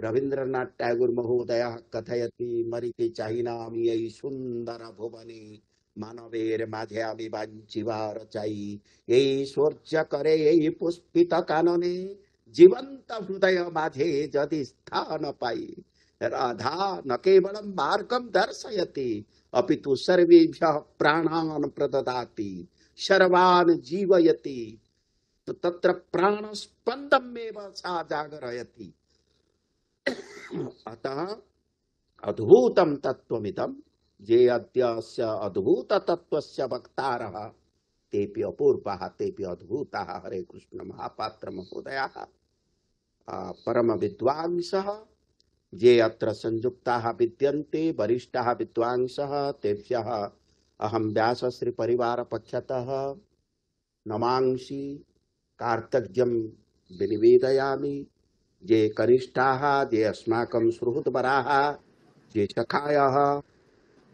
रवीन्द्रनाथ टैगोर महोदयः कथयति मरीचि चाहिनामि यही सुंदर भुवने मानवेर माझे आमी बांचिवार चाई. यही स्वर्च करे यही पुष्पित कानने जीवंत हृदय माझे जदि स्थान पाई. राधा न केवलं मार्गं दर्शयति अपितु सर्वेभ्यः प्राणान् प्रददाति सर्वान् जीवयति तो तत्र प्राणस्पन्दमेव सा जागरयति। अतः अद्भुतं तत्त्वमिदं ये अद्यस्य अद्भुत तत्त्वस्य वक्तारः तेपि अपूर्वाः तेपि अद्भुताः। हरे कृष्ण। महापात्र महोदयाः परम विद्वांसः ये अत्र संयुक्ताः विद्यन्ते वरिष्ठाः विद्वांसः तेभ्यः अहं व्यासश्री परिवार पक्षतः नमांसि कार्तज्ञं विनिवेदयामि। ये कनिष्ठाः ये अस्माकं सुहृद्वराः ये सखायः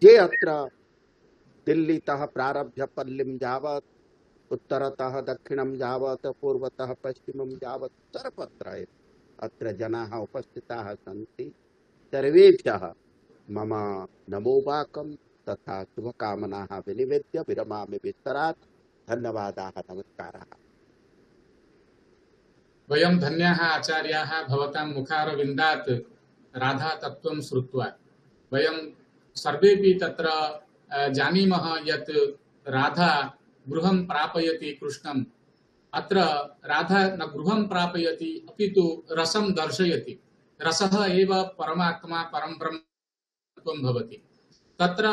ये अत्र दिल्लीतः प्रारभ्य पल्लीं यावत् उत्तरतः दक्षिणं यावत् पूर्वतः पश्चिमं यावत् सर्वत्र अत्र जनाः उपस्थिताः सन्ति। सर्वेभ्यः मम नमोवाकं तथा शुभकामनाः विनिवेद्य विरमामि विस्तरात्। धन्यवादाः। नमस्काराः। वयं धन्याः आचार्याः भवतां मुखारविन्दात् राधा तत्त्वं श्रुत्वा। वयं सर्वेपि तत्र जानीमः यत् राधा गृहं प्रापयति कृष्णम्। अत्र राधा न गृहं प्रापयति अपितु रसं दर्शयति। रसः एव परमात्मा परं ब्रह्मत्वं भवति। तत्र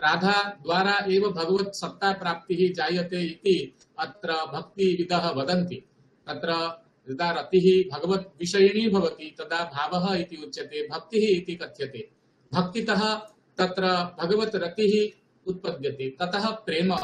राधा द्वारा एव भगवत् सत्ता प्राप्तिः जायते इति अत्र भक्तिविदः वदन्ति। तत्र यदा रतिः भगवत् विषयिणी भवति तदा भावः इति उच्यते, भक्तिः इति कथ्यते। भक्तितः तत्र भगवत् रतिः उत्पद्यते। ततः प्रेम,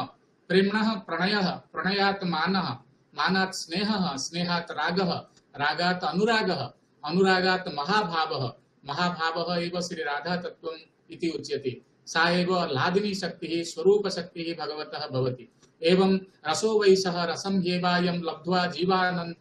प्रेम्णः प्रणयः, प्रणयात् मानः, मानात् स्नेहः, स्नेहात् रागः, रागात् अनुरागः, अनुरागात् महाभावः, महाभावः एव श्री राधा तत्त्वम् इति उच्यते। सा एव लादिनी शक्तिः, स्वरूप शक्तिः भगवतः भवति। एवं रसो वै सः रसं ह्येवायं लब्ध्वा जीवानन्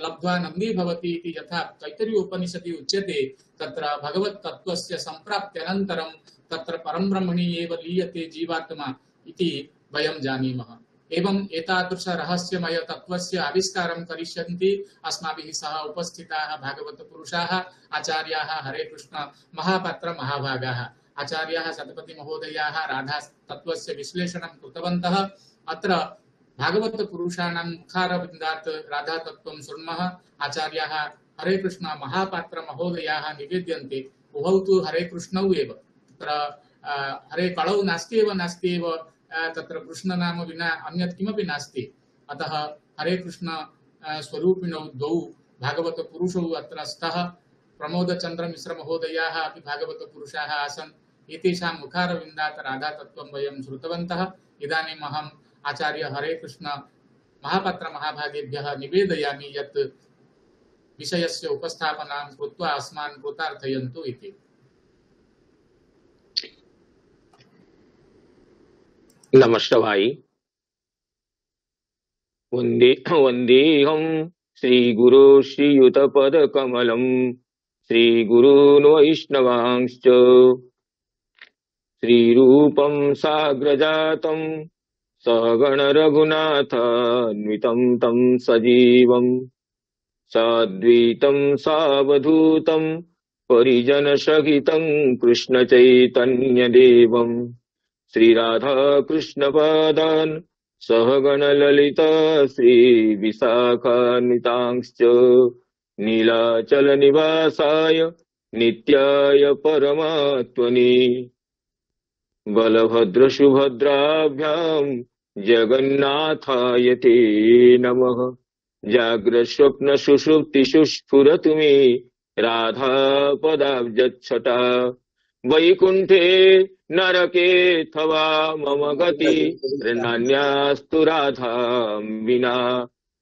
लब्ध्वा नन्दी भवति इति यथा तैत्तिरीय उपनिषदि उच्यते। तत्र भगवत् तत्त्वस्य सम्प्राप्त्यनन्तरं तत्र परं ब्रह्मणि एव लीयते जीवात्मा इति वयं जानीमः। एवं एतादृश रहस्यमय तत्त्वस्य आविष्कारं करिष्यन्ति अस्माभिः सह उपस्थिताः भागवत पुरुषाः आचार्याः हरे कृष्ण महापात्र महाभागाः। आचार्याः सतपति महोदयाः राधा तत्त्वस्य विश्लेषणं कृतवन्तः। अत्र भागवत पुरुषाणां मुखारविन्दात् राधा तत्त्वं शृण्मः। आचार्याः हरे कृष्ण महापात्र महोदयाः निवेद्यन्ते। उभौ तु हरे कृष्णौ एव। तत्र हरे कलौ नास्ति एव नास्ति एव तत्र कृष्ण नाम विना अन्यत् किमपि नास्ति। अतः हरे कृष्ण स्वरूपिणौ द्वौ भागवत पुरुषौ अत्र स्तः। प्रमोदचन्द्र मिश्र महोदयाः अपि भागवत पुरुषाः आसन्। एतेषां मुखारविन्दात् राधा तत्त्वं वयं श्रुतवन्तः। इदानीम् अहम् आचार्य हरे कृष्ण महापात्र महाभागेभ्यः निवेदयामि यत् विषयस्य उपस्थापनां कृत्वा अस्मान् कृतार्थयन्तु इति। नमस्तभाई। वंदे वंदेहं श्रीगुरो श्रीयुतपदकमलं श्रीगुरून् वैष्णवांश्च श्रीरूपं साग्रजातं सहगण रघुनाथान्वितं तं सजीवं साद्वैतं सावधूतं परिजनसहितं कृष्णचैतन्यदेवं श्री राधा कृष्ण पादान् सहगण ललिता श्री विशाखान्वितांश्च नीलाचल निवासाय नित्याय परमात्मने बलभद्र सुभद्राभ्यां जगन्नाथाय ते नमः। जाग्रत् स्वप्न सुषुप्तिषु स्फुरतु मे राधा पदाब्जच्छटा वैकुंठे नरकेऽथवा मम गति नान्यास्तु राधां विना।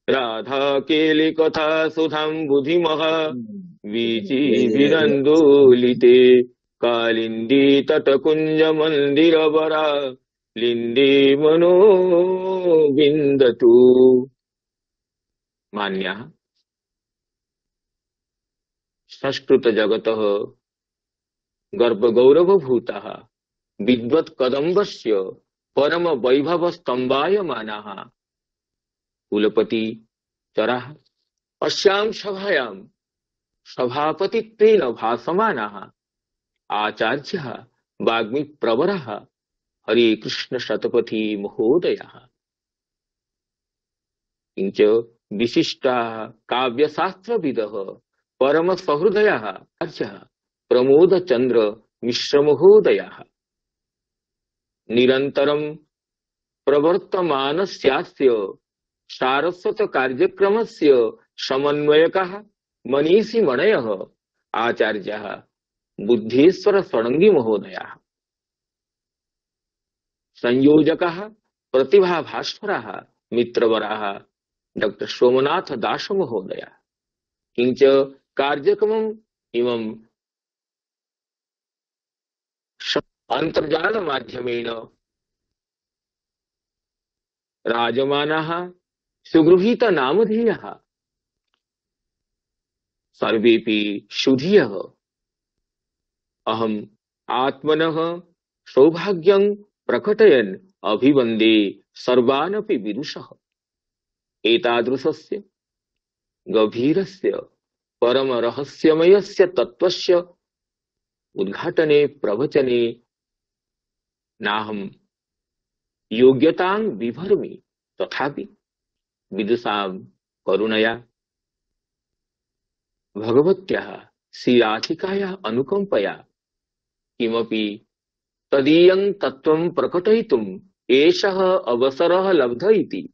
राधा केलि कथा सुधां बुधिमः वीचिभिरन्दोलिते कालिन्दी तटकुञ्ज मन्दिरवरा लिन्दी मनो विन्दतु। मान्यः संस्कृत जगतः गर्भ गौरव भूताः विद्वत् कदम्बस्य परम वैभव स्तंभायमानाः कुलपति चराः अस्यां सभायां सभापतित्वेन भासमानाः आचार्यः वाग्मी प्रवरः हरे कृष्ण शतपथी महोदयः। किंच विशिष्टाः काव्यशास्त्रविदः परम सहृदयः आचार्यः प्रमोदचंद्र मिश्र महोदयः। निरन्तरं प्रवर्तमानस्यास्य सारस्वत कार्यक्रमस्य समन्वयकः मनीषिमणयः आचार्यः बुद्धेश्वर षडंगी महोदयः। संयोजकः प्रतिभा भास्करः मित्रवरः डॉक्टर सोमनाथ दास महोदयः। किंच कार्यक्रमम् इमं अंतर्जाल माध्यमेन राजमानः सुगृहीत नामधेयः सर्वेपि सुधियः। अहम् आत्मनः सौभाग्यं प्रकटयन् अभिवन्दे सर्वानपि विदुषः। एतादृशस्य गभीरस्य परम रहस्यमयस्य तत्त्वस्य उद्घाटने प्रवचने नाहं योग्यतां बिभर्मि, तथापि विदुषां करुणया भगवत्याः श्रीराधिकायाः अनुकम्पया किमपि तदीयं तत्त्वं प्रकटयितुम् एषः अवसरः लब्ध इति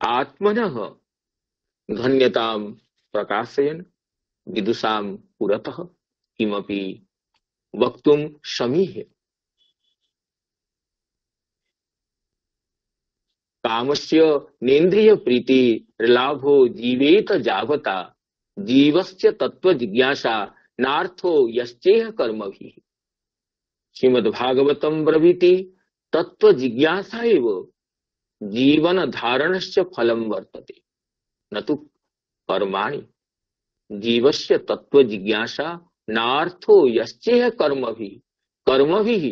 आत्मनः धन्यतां प्रकाशयन् विदुषां पुरतः किमपि वक्तुं समीहे। कामस्य नेन्द्रिय प्रीति लाभो जीवेत जावता जीवस्य तत्व जिज्ञासा नार्थो यश्चेह कर्मभिः। श्रीमद्भागवतं ब्रवीति तत्व जिज्ञासा एव जीवन धारणस्य फलं वर्तते, न तु कर्माणि। जीवस्य तत्व जिज्ञासा नार्थो यश्चेह कर्मभिः। कर्मभिः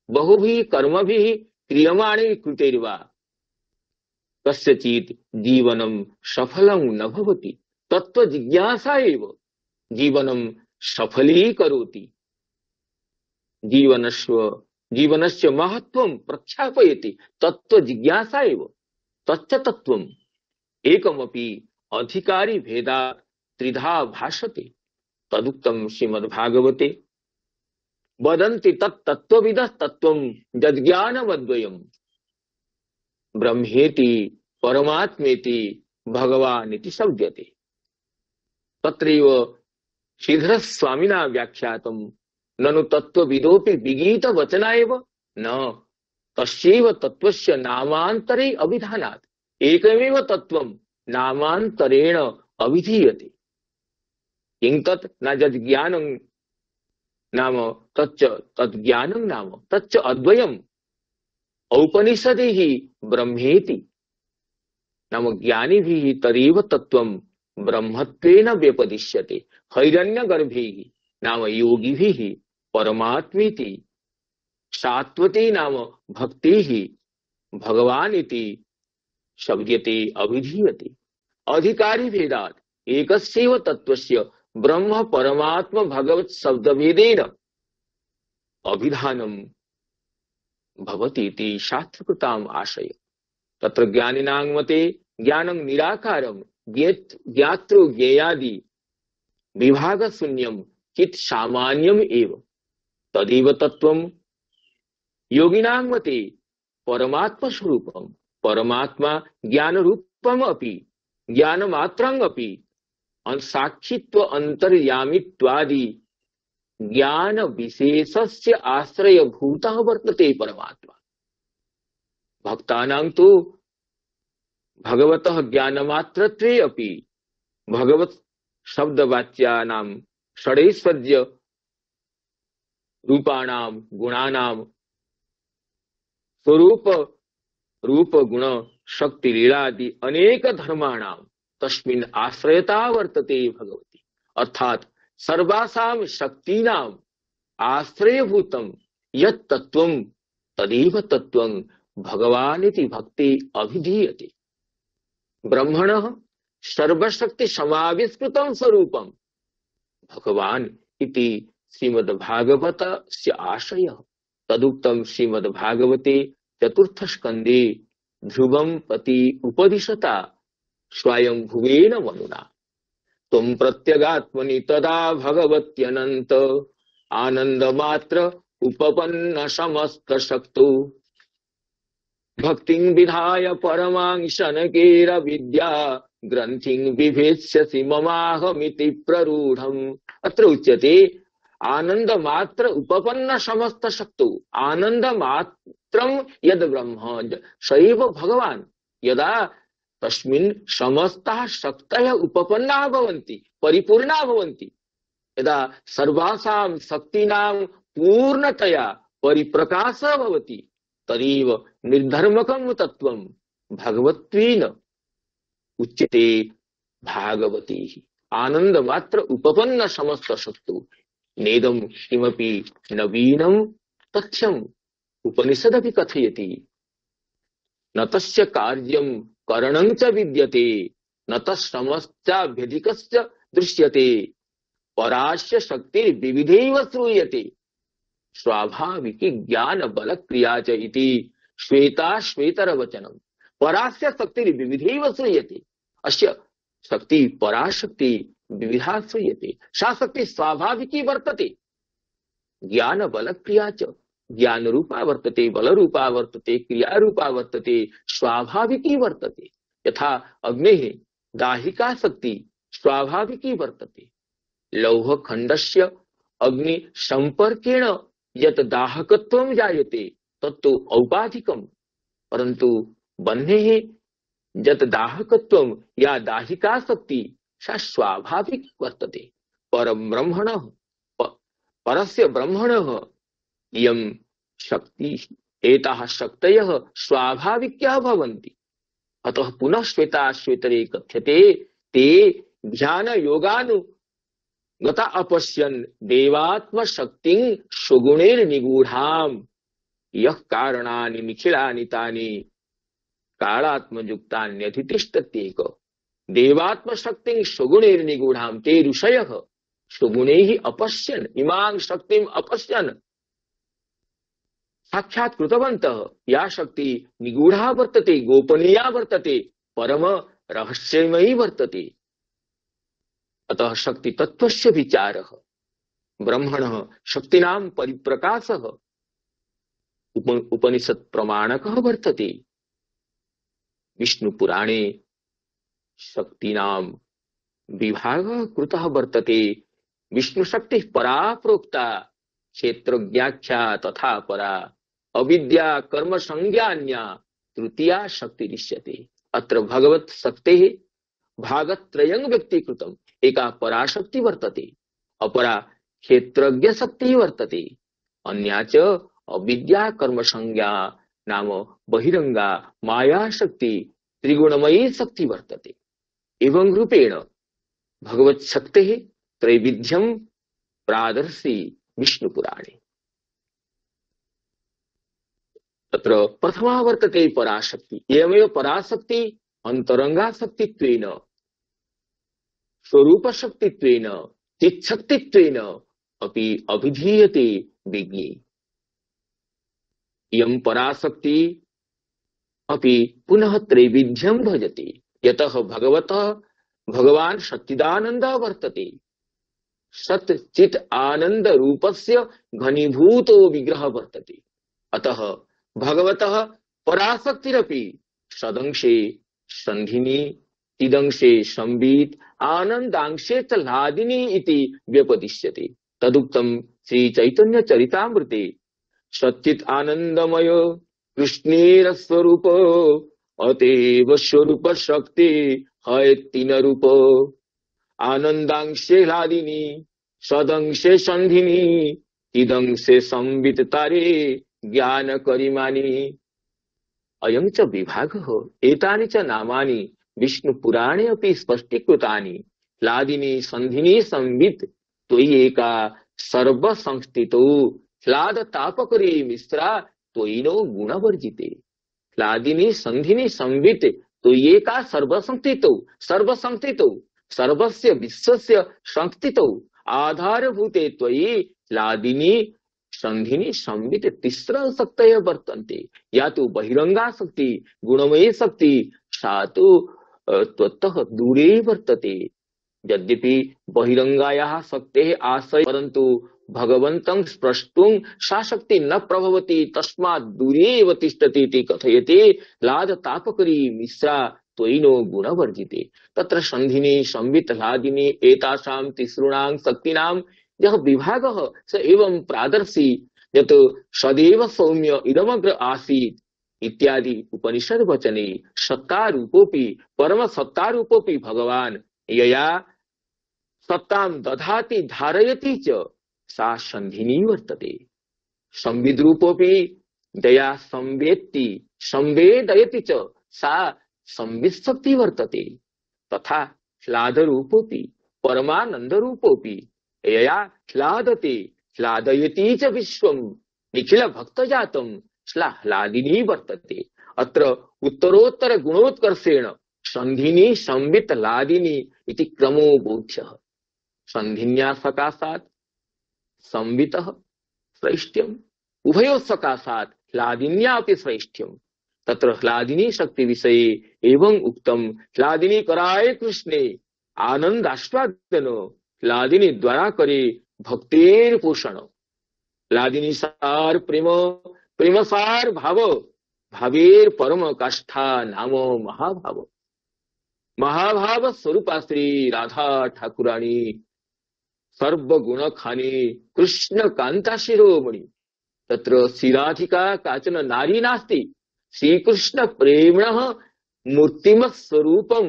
बहुभिः कर्मभिः क्रियमाणे कृतेर्वा कस्यचित् जीवनं सफलं न भवति। तत्व जिज्ञासा एव जीवनं सफलीकरोति। जीवनस्य जीवनस्य महत्त्वं प्रख्यापयति तत्व जिज्ञासा एव। तच्च तत्त्वम् एकमपि अधिकारी भेदात् त्रिधा भाषते। तदुक्तं श्रीमद्भागवते। वदन्ति तत् तत्त्वविदः तत्त्वं यज्ञानमद्वयम् ब्रह्मेति परमात्मेति भगवानिति शब्दते। तत्रैव श्रीधर स्वामिना व्याख्यातं ननु तत्त्वविदोपि विगीत वचना एव न तस्यैव तत्त्वस्य नामान्तरे अभिधानात्। एकमेव तत्त्वं नामान्तरेण अभिधीयते। किं तत् न यज्ञानं नाम तच्च तज्ज्ञानं नाम तच्च अद्वयम् औपनिषदिः ब्रह्मेति। नाम ज्ञानिभिः तदेव तत्त्वं ब्रह्मत्वेन व्यपदिश्यते। हैरण्यगर्भैः नाम योगिभिः परमात्मेति। सात्वते नाम भक्तिः भगवान् इति शब्दते अभिधीयते। अधिकारी भेदात् एकस्यैव तत्त्वस्य ब्रह्म परमात्म भगवत् शब्दभेदेन अभिधानं भवति इति शास्त्रकृताम् आशय। तत्र ज्ञानिनां मते ज्ञानं निराकारं ज्ञातृ ज्ञेयादि विभाग शून्यं चित् सामान्यम् एव तदेव तत्त्वम्। योगिनां मते परमात्म स्वरूपं परमात्मा ज्ञान रूपम् अपि ज्ञानमात्रम् अपि साक्षित्व अंतर्यामित्वादि ज्ञान विशेषस्य आश्रयभूतः वर्तते परमात्मा। भक्तानां तु भगवतः ज्ञानमात्रत्वे अपि भगवत शब्दवाच्यानां षडैश्वर्य रूपाणां गुणानां स्वरूप रूप गुण शक्ति लीलादि अनेक धर्माणां तस्मिन् आश्रयता वर्तते भगवती। अर्थात सर्वासां शक्तीनां आश्रयभूतं यत् तत्त्वं तदेव तत्त्वं भगवान् इति भक्ति अभिधीयते। ब्रह्मणः सर्वशक्ति समाविष्कृतं स्वरूपं भगवान् इति श्रीमद्भागवतस्य आशयः। तदुक्तं श्रीमद्भागवते चतुर्थ स्कन्धे ध्रुवं पति उपदिशता स्वयं भुवेन मनुना। त्वं प्रत्यगात्मनि तदा भगवत्यनंत आनंद मात्र उपपन्न समस्त शक्तो भक्तिं विधाय परमांशनकेर विद्या ग्रंथिं बिभेत्स्यसि ममाहमिति प्ररूढम्। अत्र उच्यते आनंद मात्र उपपन्न समस्त शक्तो। आनंद मात्रं यद ब्रह्म सैव भगवान् यदा तस्मिन् समस्ताः शक्तयः उपपन्नाः भवन्ति, परिपूर्णाः भवन्ति, यदा सर्वासां शक्तीनां पूर्णतया परिप्रकाशः भवति, तदेव निर्धर्मकं तत्त्वं भगवत्वेन उच्यते भागवती। आनंद मात्र उपपन्न समस्त शक्तो नेदं किमपि नवीनं तथ्यम् उपनिषदपि कथयति। न तस्य कार्यं करणं च विद्यते न तस्समस्याभ्यधिकस्य दृश्यते परास्य शक्तिर्विविधैव श्रूयते स्वाभाविकी ज्ञान बल क्रिया च इति श्वेताश्वेतर वचनम्। परास्य शक्तिर्विविधैव श्रूयते। अस्य शक्ति पराशक्ति विविधा श्रूयते। सा शक्ति स्वाभाविकी वर्तते। ज्ञान बल क्रिया च ज्ञान रूपा वर्तते, बल रूपा वर्तते, क्रिया रूपा वर्तते, स्वाभाविकी वर्तते। यथा अग्नेः दाहिका शक्ति स्वाभाविकी वर्तते। लौह खंडस्य अग्नि संपर्केण यत् दाहकत्वं जायते तत्तु औपाधिकम्, परन्तु बन्धेः यत् दाहकत्वं या दाहिका शक्ति सा स्वाभाविक वर्तते। परब्रह्मणः परस्य ब्रह्मणः इयं शक्ति एताः शक्तयः स्वाभाविक्यः भवन्ति। अतः पुनः श्वेताश्वेतरे कथ्यते ते ध्यान योगानुगता अपश्यन् देवात्मशक्तिं सुगुणैर्निगूढाम् यः कारणानि निखिलानि तानि कालात्मयुक्तान्यधितिष्ठत्येक। देवात्मशक्तिं सुगुणैर्निगूढाम् ते ऋषयः सुगुणैः अपश्यन् इमां शक्तिम् अपश्यन् साक्षात् कृतवन्तः। या शक्ति निगूढ़ा वर्तते, गोपनीया वर्तते, परम रहस्यमयी वर्तते। अतः शक्ति तत्त्वस्य विचारः ब्रह्मणः शक्तीनां परिप्रकाशः उप, उपनिषत् प्रमाणकः वर्तते। विष्णु पुराणे शक्तीनां विभागः कृतः वर्तते। विष्णु शक्तिः परा प्रोक्ता क्षेत्रज्ञाख्या तथा परा अविद्या कर्म संज्ञान्या तृतीया शक्ति दृश्यते। अत्र भगवत शक्तेः भागत्रयं व्यक्तीकृतम्। एका पराशक्ति वर्तते, अपरा क्षेत्रज्ञ शक्तिः वर्तते, अन्या च अविद्या कर्म संज्ञा नाम बहिरंगा माया शक्ति त्रिगुणमयी शक्ति वर्तते। एवं रूपेण भगवत शक्तेः त्रैविध्यं प्रादर्शि विष्णु पुराणे। तत्र प्रथमा वर्तते पराशक्ति। एवमेव पराशक्ति अंतरंगा शक्तित्वेन स्वरूप शक्तित्वेन चित्शक्तित्वेन अपि अभिधीयते विज्ञे। इयं पराशक्ति अपि पुनः त्रैविध्यं भजते। यतः भगवतः भगवान् सच्चिदानन्दः वर्तते। सत् चित् आनंद रूपस्य घनीभूतो विग्रह वर्तते। अतः भगवतः पराशक्तिरपि सदंशे संधिनी चिदंशे संवित् आनंदांशे च लादिनी इति व्यपदिश्यते। तदुक्तं श्री चैतन्य चरितामृते सच्चित् आनंदमय कृष्णेर स्वरूप अतएव स्वरूप शक्ति है तीन रूप आनंदांशे लादिनी सदंशे संधिनी चिदंशे संवित् तारे ज्ञान करिमानी। अयं च विभागः। एतानि च नामानि विष्णु पुराणे अपि स्पष्टीकृतानि। लादिनी संधिनी संवित् त्वयि एका सर्व संस्थितो ह्लाद तापकरे मिश्रा त्वयिनो गुणवर्जिते। लादिनी संधिनी संवित् त्वयि एका सर्व संस्थितो सर्व संस्थितो सर्वस्य विश्वस्य संस्थितौ आधारभूते त्वयि लादिनी संधिनी संवित तिस्र शक्तय वर्तन्ते। या तो बहिरंगा शक्ति गुणमयी शक्ति सा तो त्वत्तः दूरे वर्तते। यद्यपि बहिरंगायाः शक्तेः आश्रय परन्तु भगवन्तं स्प्रष्टुं सा शक्ति न प्रभवति तस्मात् दूरे एव तिष्ठति इति कथयते। लाद तापकरी मिश्रा त्वयिनो गुणवर्जिते। तत्र संधिनी संवित लादिनी एतासां तिसॄणां शक्तीनां यः विभागः स एवं प्रादर्शी यत् सदैव सौम्य इदमग्र आसीत् इत्यादि उपनिषद वचने सत्तारूपोऽपि परम सत्तारूपोऽपि भगवान् यया सत्तां दधाति धारयति च सा संधिनी वर्तते। संविद्रूपोऽपि दया संवेत्ति संवेदयति च सा संवित्शक्ति वर्तते। तथा ह्लादरूपोऽपि परमानन्दरूपोऽपि यया ह्लादते ह्लादयति च विश्वं निखिल भक्तजातं सा ह्लादिनी वर्तते। अत्र उत्तरोत्तर गुणोत्कर्षेण संधिनी संवित लादिनी इति क्रमो बोध्यः। संधिन्या सकाशात् संवितः श्रेष्ठ्यम् उभयोः सकाशात् ह्लादिन्यापि श्रेष्ठ्यम्। तत्र ह्लादिनी शक्ति विषये एवं उक्तम् ह्लादिनी कराय कृष्णे आनन्दास्वादन ह्लादिनी द्वारा करे भक्तेर पोषण। ह्लादिनी सार प्रेम प्रेम सार भाव भावेर परम काष्ठा नाम महाभाव। महाभाव स्वरूपा श्री राधा ठाकुराणी सर्वगुण खानी कृष्ण कांता शिरोमणि। तत्र श्रीराधिका काचन नारी नास्ति। श्रीकृष्ण प्रेम्णः मूर्तिमत् स्वरूपम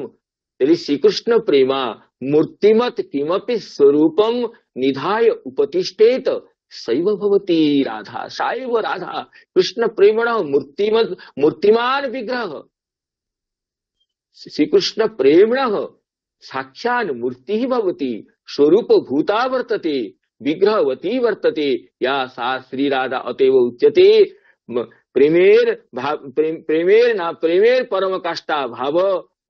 यदि श्रीकृष्ण प्रेमा मूर्तिमत् किमपि स्वरूपम निधाय उपतिष्ठेत सैव भवति राधा। साइव राधा कृष्ण प्रेम्णः मूर्तिमत् मूर्तिमान विग्रह। श्रीकृष्ण प्रेम्णः साक्षात् मूर्ति भवति स्वरूप भूता वर्तते विग्रहवती वर्तते या सा श्री राधा। अतएव उच्यते प्रेमेर भाव प्रेम, प्रेमेर ना प्रेमेर परम काष्ठा भाव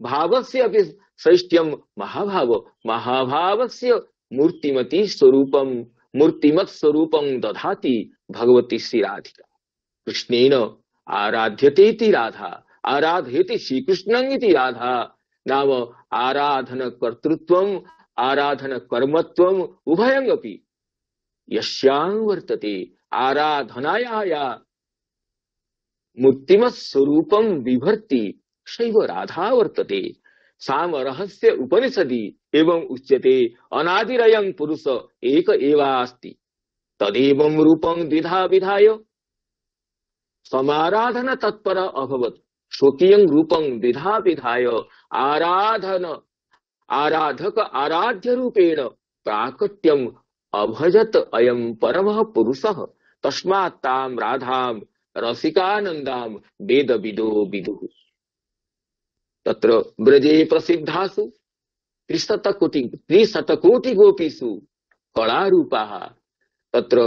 भावस्य अपि श्रेष्ठ्यम महाभाव महाभावस्य मूर्तिमती स्वरूपम मूर्तिमत् स्वरूपम दधाति भगवती श्री राधिका। कृष्णेन आराध्यते इति राधा आराधयति श्रीकृष्णं इति राधा। नाम आराधन कर्तृत्वम आराधन कर्मत्वम उभयंगपि यस्यां वर्तते। आराधनाया मूर्तिमत् स्वरूपम विभर्ति शैव राधा वर्तते। साम रहस्य उपनिषदि एवं उच्यते अनादिरयं पुरुष एक एवास्ति तदेवं रूपं द्विधा विधाय समाराधन तत्पर अभवत् स्वकीयं रूपं द्विधा विधाय आराधन आराधक आराध्य रूपेण प्राकट्यम अभजत अयं परमः पुरुषः। तस्मात् तां राधां रसिकानन्दां वेद विदो विदुः। तत्र ब्रजे प्रसिद्धासु त्रिशतकोटि त्रिशतकोटि गोपीषु कलारूपाः तत्र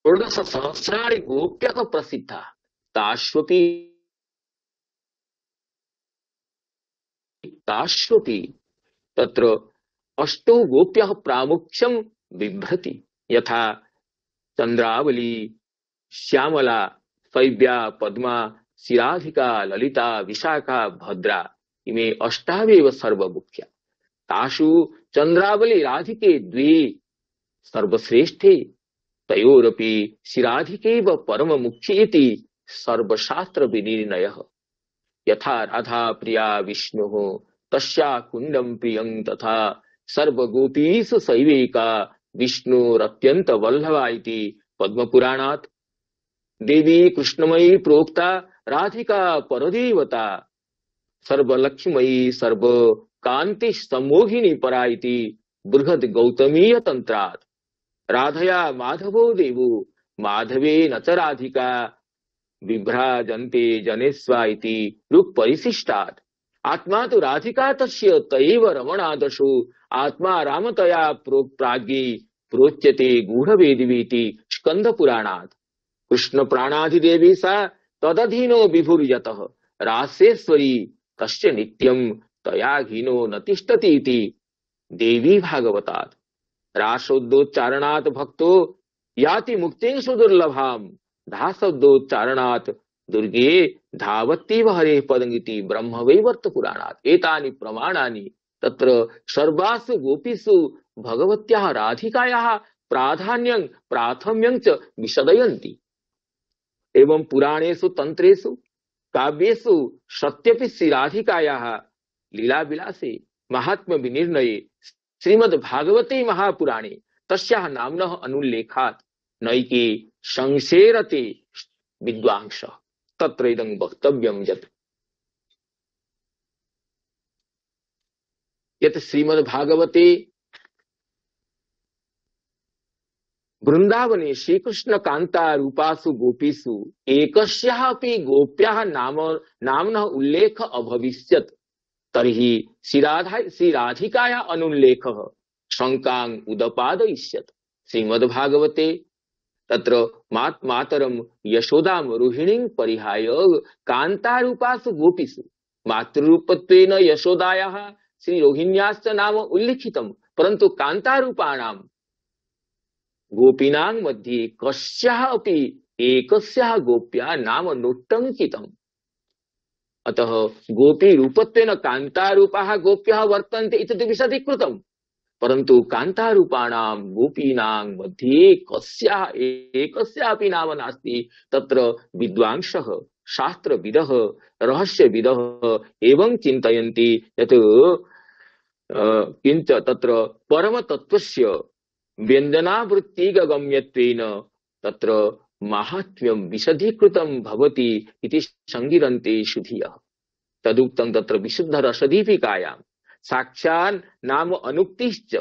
षोडश सहस्राणि गोप्यः प्रसिद्धाः। ताश्वपि ताश्वपि तत्र अष्टौ गोप्यः प्रामुख्यं बिभ्रति। यथा चंद्रावली श्यामला शैव्या पद्मा शिराधिका ललिता विशाखा भद्रा इमे अष्टावेव सर्वमुख्या। तासु चंद्रावली राधिके द्वे सर्वश्रेष्ठे तयोरपि शिराधिकेव परम मुख्ये इति सर्वशास्त्र विनिर्णयः। यथा राधा प्रिया विष्णुः तस्या कुंडम प्रियं तथा सर्वगोपीषु शैवेका विष्णुरत्यंत वल्लभा इति पद्मपुराणात्। देवी कृष्णमयी प्रोक्ता राधिका परदेवता सर्वलक्ष्मीमयी सर्व कांति सम्मोहिनी परा इति बृहद गौतमीय तंत्रात्। राधया माधवो देवो माधवे न च राधिका विभ्राजन्ते जनेस्वा इति ऋक् परिशिष्टात्। आत्मा तो राधिका तस्य तयैव रमणादशो आत्मा रामतया प्राज्ञे प्रोच्यते गूढ़वेदिवीति स्कंद पुराणात्। कृष्ण प्राणाधिदेवी सा तदधीनो विभुर्यतः रासेश्वरी तस्य नित्यं तया हीनो न तिष्ठति इति देवी भागवतात् राशब्दोच्चारणात् भक्तो याति मुक्तिं सुदुर्लभाम धाशब्दोच्चारणात् दुर्गे धावत्येव हरेः पदमिति ब्रह्म वैवर्त पुराणात् एतानि प्रमाणानि तत्र सर्वासु गोपीसु भगवत्याः राधिकायाः प्राधान्यं प्राथम्यं च विशदयन्ति। एवं पुराणेषु तंत्रेषु काव्येषु सत्यपि श्री राधिकायाः लीला विलासे महात्म्य विनिर्णये श्रीमद् भागवते महापुराणे तस्याः नाम्नः अनुल्लेखात् नैके संशेरते विद्वांसः। तत्र इदं वक्तव्यं यत् यत् श्रीमद् भागवते वृंदावने श्रीकृष्ण कांता रूपासु गोपीसु एकस्याः अपि गोप्याः नाम नाम्नः उल्लेख अभविष्यत् तर्हि श्रीराधा श्रीराधिकायाः अनुल्लेखः शंकां उदपादयिष्यत्। श्रीमद्भागवते तत्र मात मातरं यशोदां रोहिणीं परिहाय कान्तारूपासु गोपीसु मातृरूपत्वेन यशोदायाः श्रीरोहिण्याश्च नाम उल्लिखितं, परन्तु कान्तारूपाणां गोपीनां मध्ये कस्याः अपि एकस्याः गोप्या नाम नोट्टङ्कितम्। अतः गोपी रूपत्वेन कान्तारूपाः गोप्यः वर्तन्ते इति विशदीकृतम्, परन्तु कान्तारूपाणां गोपीनां मध्ये कस्याः एकस्याः अपि नाम नास्ति। तत्र विद्वांसः शास्त्रविदः रहस्यविदः एवं चिन्तयन्ति यत् किञ्च तत्र परमतत्त्वस्य व्यञ्जनावृत्तिगम्यत्वेन तत्र माहात्म्यं विशदीकृतं भवति इति संगिरन्ते सुधियः। तदुक्तं तत्र विशुद्धरसदीपिकायां साक्षात् नाम अनुक्तिश्च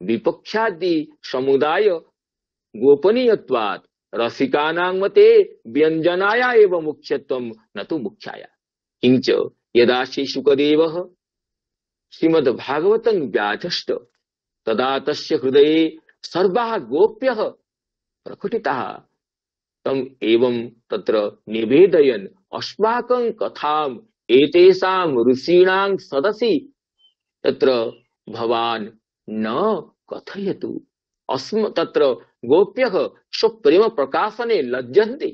विपक्षादि समुदाय गोपनीयत्वात् रसिकानां मते व्यञ्जनाया एव मुख्यत्वं न तु मुख्याया। किञ्च यदा श्री शुकदेवः श्रीमद्भागवतं व्याधष्ट तदा तस्य हृदये सर्वाः गोप्यः प्रकटिताः तम् एवं तत्र निवेदयन् अस्माकं कथाम् एतेषां ऋषीणां सदसि तत्र भवान् न कथयतु। अस्म तत्र गोप्यः स्वप्रेम प्रकाशने लज्जन्ते।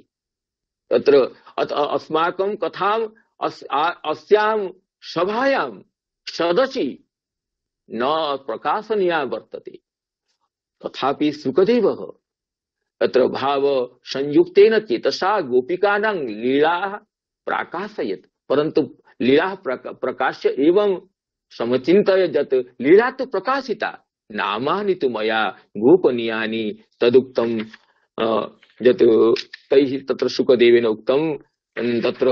तत्र अस्माकं कथाम् अस्, अस्यां सभायां सदसि न प्रकाशनीया वर्तते। तथापि शुकदेवः तत्र भाव संयुक्तेन चेतसा गोपिकानां लीलाः प्राकाशयत्, परन्तु लीलाः प्रकाश्य एवं समचिन्तय यत् लीला तु प्रकाशिता, नामानि तु मया गोपनीयानि। तदुक्तं यत् तैः तत्र शुकदेवेन उक्तं तत्र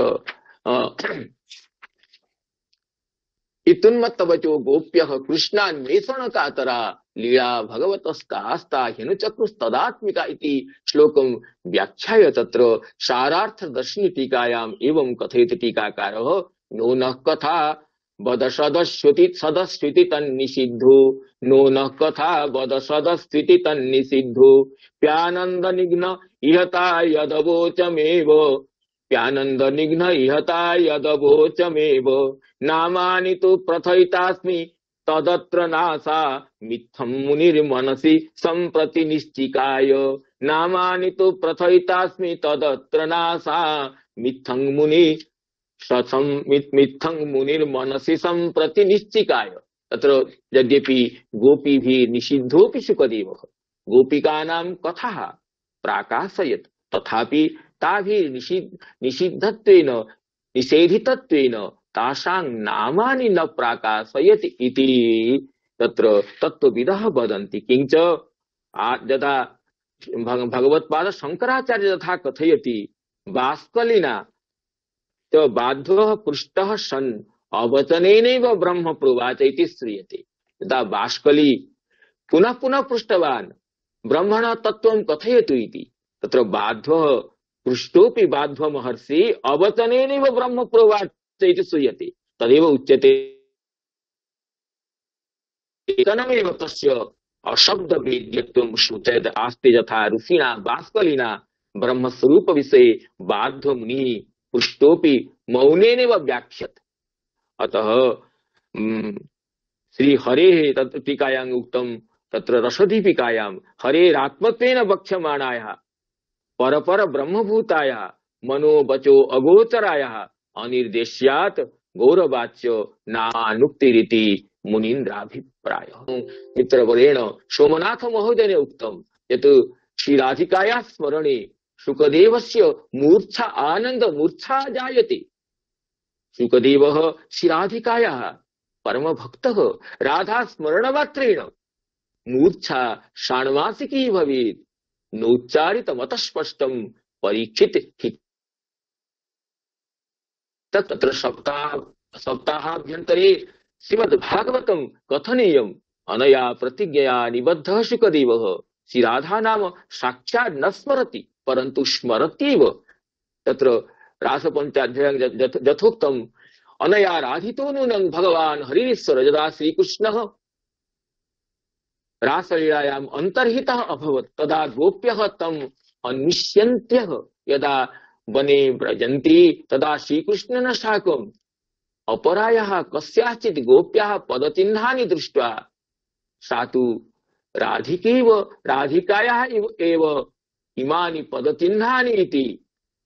इतुन्मत्तवचो गोप्यः कृष्णान्वेषण कातरा लीला भगवतस्तास्ता ह्यनुचक्रुस्तदात्मिका इति श्लोकं व्याख्याय तत्र सारार्थदर्शिनी टीकायाम् एवं कथयति टीकाकारः नो नः कथा वद सदस्युति सदस्युति तन्निषिद्धो नो नः कथा वद सदस्युति तन्निषिद्धो प्यानंद निघ्न इहता यदवोचमेव प्यानंद निघ्न इहता यदवोचमेव नामानि तु प्रथयितास्मि तदत्र नासा मिथ्यं मुनिर्मनसि सम्प्रति निश्चिकाय नामानि तु प्रथयितास्मि तदत्र नासा मिथ्यं मुनि मिथ्यं मुनिर्मनसि सम्प्रति निश्चिकाय। तत्र यद्यपि गोपीभिः निषिद्धोऽपि शुकदेवः गोपिकानां कथाः प्राकाशयत्, तथापि ताभिः निषिद्ध निषिद्धत्वेन निषेधितत्वेन तासां नामानि न प्राकाशयति इति तत्र तत्त्वविदः वदन्ति। किञ्च यदा भगवत्पाद शंकराचार्य यथा कथयति बाष्कलिना च बाध्वः पृष्टः सन् अवचनेनैव ब्रह्म प्रोवाच इति श्रूयते। यदा बाष्कली पुनः पुनः पृष्टवान् ब्रह्मणः तत्त्वं कथयतु इति, तत्र बाध्वः पृष्टोऽपि बाध्व महर्षि अवचनेनैव ब्रह्म प्रोवाच इति श्रूयते। तदेव उच्यते एकनमेव तस्य अशब्द वेद्यत्वं सूचयत् आस्ते यथा ऋषिणा बाष्कलिना ब्रह्मस्वरूप विषये बाध्व मुनिः पृष्टोऽपि मौनेनैव व्याख्यत्। अतः श्री हरे तत्र टीकायां उक्तम तत्र रसदीपिकायां हरेरात्मत्वेन वक्ष्यमाणायाः परपर ब्रह्मभूतायाः मनो वचो अगोचरायाः अनिर्देश्यात् गौरवाच्य नानुक्तिरिति मुनीन्द्राभिप्रायः। मित्रवरेण सोमनाथ महोदयेन उक्तं यत् श्रीराधिकायाः स्मरणे शुकदेवस्य मूर्छा आनंद मूर्छा जायते। शुकदेवः श्रीराधिकायाः परम भक्तः राधा स्मरण मात्रेण मूर्छा षाण्मासिकी भवेत् नोच्चारितमतः स्पष्टं परीक्षित तत्र सप्ताह सप्ताहाभ्यन्तरे श्रीमद्भागवतं कथनीयम् अनया प्रतिज्ञया निबद्धः शुकदेवः श्रीराधा नाम साक्षात् न स्मरति परन्तु स्मरत्येव। तत्र रासपञ्चाध्यायं यथोक्तम् अनया राधितो नूनं भगवान् हरिश्वर यदा श्रीकृष्णः रासलीलायाम् अन्तर्हितः अभवत् तदा गोप्यः तम् अन्विष्यन्त्यः यदा वने व्रजन्ति तदा श्रीकृष्णेन साकम् अपरायाः कस्याचित् गोप्याः पदचिह्नानि दृष्ट्वा सा तु राधिकैव राधिकायाः एव इमानि पदचिह्नानि इति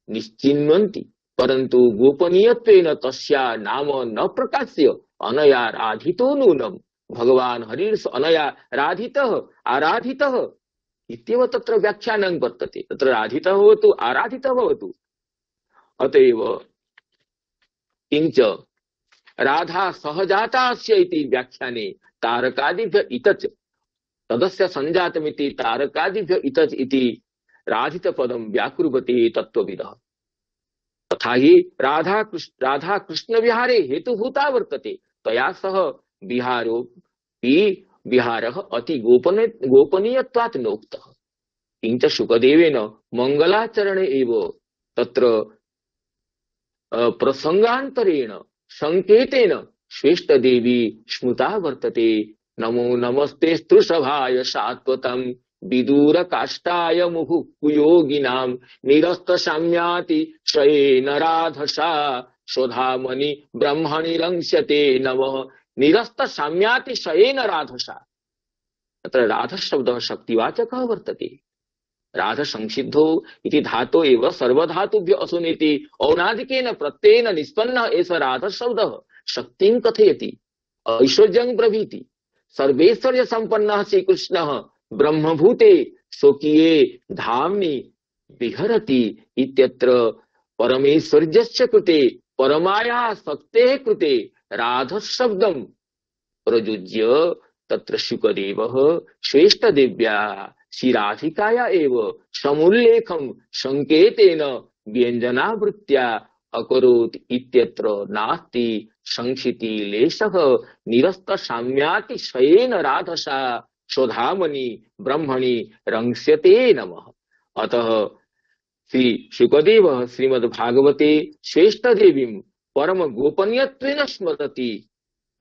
निश्चिन्वन्ति परन्तु गोपनीयत्वेन तस्या नाम न प्रकाश्य अनया राधितो नूनं भगवान् हरिर्स अनया राधितः आराधितः इत्येव तत्र व्याख्यानं वर्तते। तत्र राधितः भवतु आराधितः भवतु। अतएव किञ्च राधा सहजातास्य इति व्याख्याने तारकादिभ्य इतच तदस्य संजातमिति तारकादिभ्य इतच इति राधितपदं व्याकुर्वते तत्त्वविदः। तथा हि राधा कृष्ण राधा कृष्ण विहारे हेतुभूता वर्तते तया सह विहारो विहारः अति गोपनीय गोपनीयत्वात् नोक्तः। किञ्च शुकदेवेन मंगलाचरणे एव तत्र प्रसंगान्तरेण संकेतेन श्रेष्ठ देवी स्मृता वर्तते। नमो नमस्ते स्तृषभाय सात्वतं विदूर काष्ठाय मुहुः कुयोगिनां निरस्त साम्याति शयेन राधसा स्वधामनि ब्रह्मणि रंस्यते नमः निरस्त साम्याति शयेन राधसा। तत्र राध शब्दः शक्तिवाचकः वर्तते। राध संसिद्धो इति धातो एव सर्वधातुभ्य असुनेति औनादिकेन प्रत्ययेन निष्पन्नः एष राध शब्दः शक्तिं कथयति ऐश्वर्यं प्रभृति। सर्वैश्वर्य संपन्नः श्रीकृष्णः ब्रह्मभूते स्वकीये धाम्नि विहरति इत्यत्र परमेश्वर्यस्य कृते परमायाः शक्तेः कृते राध शब्दं प्रयुज्य तत्र शुकदेवः श्रेष्ठ देव्या श्रीराधिकाया एव समुल्लेखं संकेतेन व्यञ्जनावृत्त्या अकरोत् इत्यत्र नास्ति संक्षिति लेशः निरस्त साम्याति शयेन राधसा स्वधामनि ब्रह्मणि रंस्यते नमः। अतः श्री शुकदेवः श्रीमद्भागवते श्रेष्ठ देवीं परम गोपनीयत्वेन स्मरति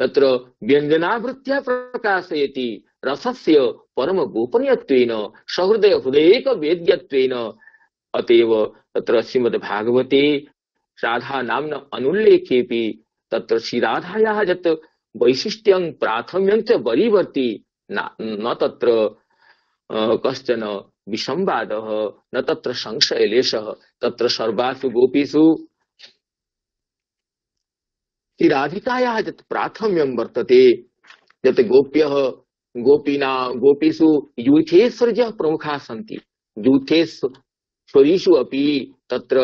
तत्र व्यञ्जनावृत्त्या प्रकाशयति रसस्य परम गोपनीयत्वेन सहृदय हृदयेक वेद्यत्वेन। अतएव तत्र श्रीमद्भागवते राधा नाम्न अनुल्लेखेपि तत्र श्रीराधायाः यत् वैशिष्ट्यं प्राथम्यं च वरीवर्ति न तत्र कश्चन विसंवादः न तत्र संशयलेशः। तत्र सर्वासु गोपीषु राधिकायाः यत् प्राथम्यं वर्तते यत् गोप्यः गोपीना गोपीषु यूथेश्वर्यः प्रमुखाः सन्ति। यूथेश्वरीषु अपि तत्र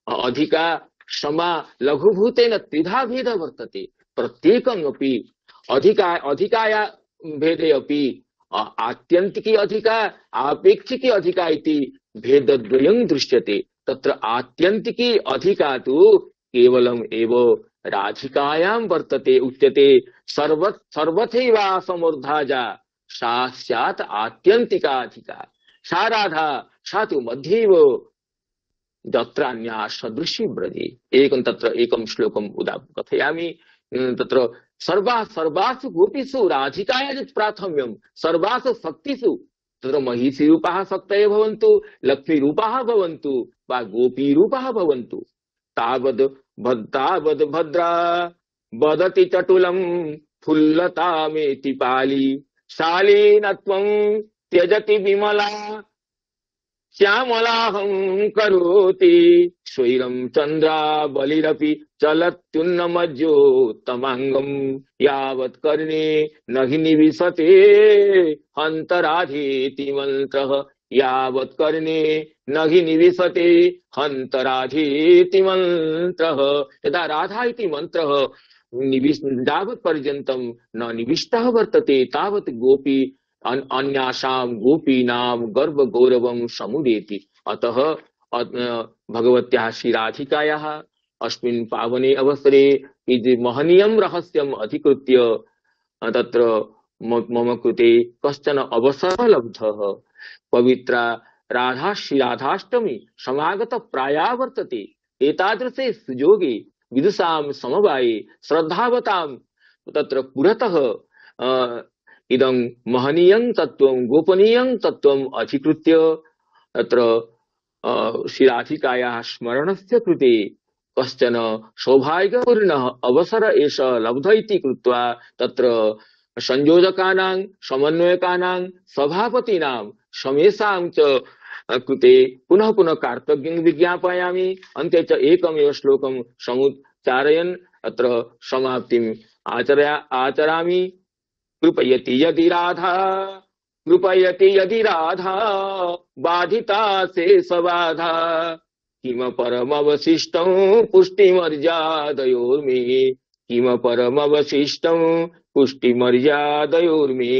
अधिका समा लघुभूतेन त्रिधा भेदः वर्तते। प्रत्येकम् अपि अधिका अधिकाया भेदे अपि आत्यन्तिकी अधिका आपेक्षिकी अधिका इति भेदद्वयं दृश्यते। तत्र आत्यन्तिकी अधिका तु केवलम् एव राधिकायां वर्तते। उच्यते सर्व सर्वथैवा समूर्धा जा सा स्यात् आत्यन्तिका अधिका। सा राधा सा तु मध्येव दत्रान्या सदृशी ब्रजे। एकं तत्र एकं श्लोकम् उदा कथयामि। तत्र सर्वा सर्वासु गोपीषु राधिकाया यत् प्राथम्यं सर्वासु शक्तिषु तत्र महिषीरूपाः शक्तयः भवन्तु लक्ष्मीरूपाः भवन्तु वा गोपीरूपाः भवन्तु तावद् तावद् भद्रा वदति चटुलं फुल्लतामेति पाली शालीनत्वं त्यजति विमला श्यामलाहं करोति स्वैरं चन्द्रावलिरपि चलत्युन्नमज्योत्तमाङ्गं यावत् कर्णे न हि निविशते हन्तराधीति मन्त्रः यावत् कर्णे न हि निविशते हन्तराधीति मन्त्रः। यदा राधा इति मन्त्रः निविश यावत् पर्यन्तं न निविष्टः वर्तते तावत् गोपी अन्यासां गोपीनां गर्भगौरवं समुदेति। अतः भगवत्याः श्रीराधिकायाः अस्मिन् पावने अवसरे यदि महनीयं रहस्यम् अधिकृत्य तत्र मम कृते कश्चन अवसरः लब्धः। पवित्रा राधा श्रीराधाष्टमी समागत प्राया वर्तते। एतादृशे सुयोगे विदुषां समवाये श्रद्धावतां तत्र पुरतः इदं महनीयं तत्त्वं गोपनीयं तत्त्वम् अधिकृत्य तत्र श्रीराधिकायाः स्मरणस्य कृते कश्चन सौभाग्यपूर्णः अवसर एष लब्ध इति कृत्वा तत्र संयोजकानां समन्वयकानां सभापतीनां समेषां च कृते पुनः पुनः कार्तज्ञं विज्ञापयामि। अन्ते च एकमेव श्लोकं समुच्चारयन् अत्र समाप्तिम् आचर्या आचरामि। कृपयति यदि राधा कृपयति यदि राधा बाधिता शेषबाधा किम परमवशिष्टं पुष्टिमर्यादयोर्मे किम परमवशिष्टं पुष्टिमर्यादयोर्मे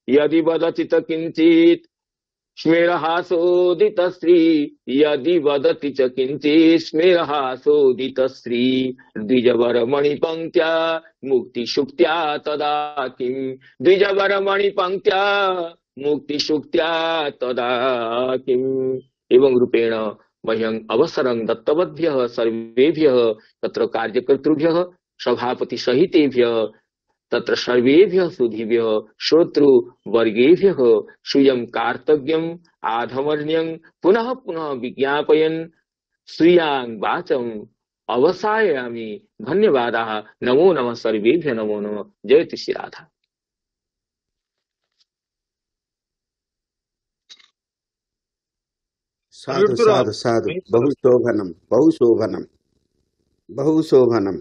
यदि वदति च किञ्चित् स्मेरहासोदितश्री यदि वदति च किञ्चित् स्मेरहासोदितश्री द्विजवरमणिपङ्क्त्या मुक्तिशुक्त्या तदा किं द्विजवरमणिपङ्क्त्या मुक्तिशुक्त्या तदा किम्। एवं रूपेण मह्यम् अवसरं दत्तवद्भ्यः सर्वेभ्यः तत्र कार्यकर्तृभ्यः सभापतिसहितेभ्यः तत्र सर्वेभ्यः सुधीभ्यः श्रोतृवर्गेभ्यः श्रूयं कार्तज्ञम् आधमर्ण्यं पुनः पुनः विज्ञापयन् श्रियां वाचम् अवसायामि। धन्यवादाः। नमो नमः सर्वेभ्यः नमो नमः। जयतु श्री राधा। साधु साधु साधु बहु शोभनं बहु शोभनं बहु शोभनं।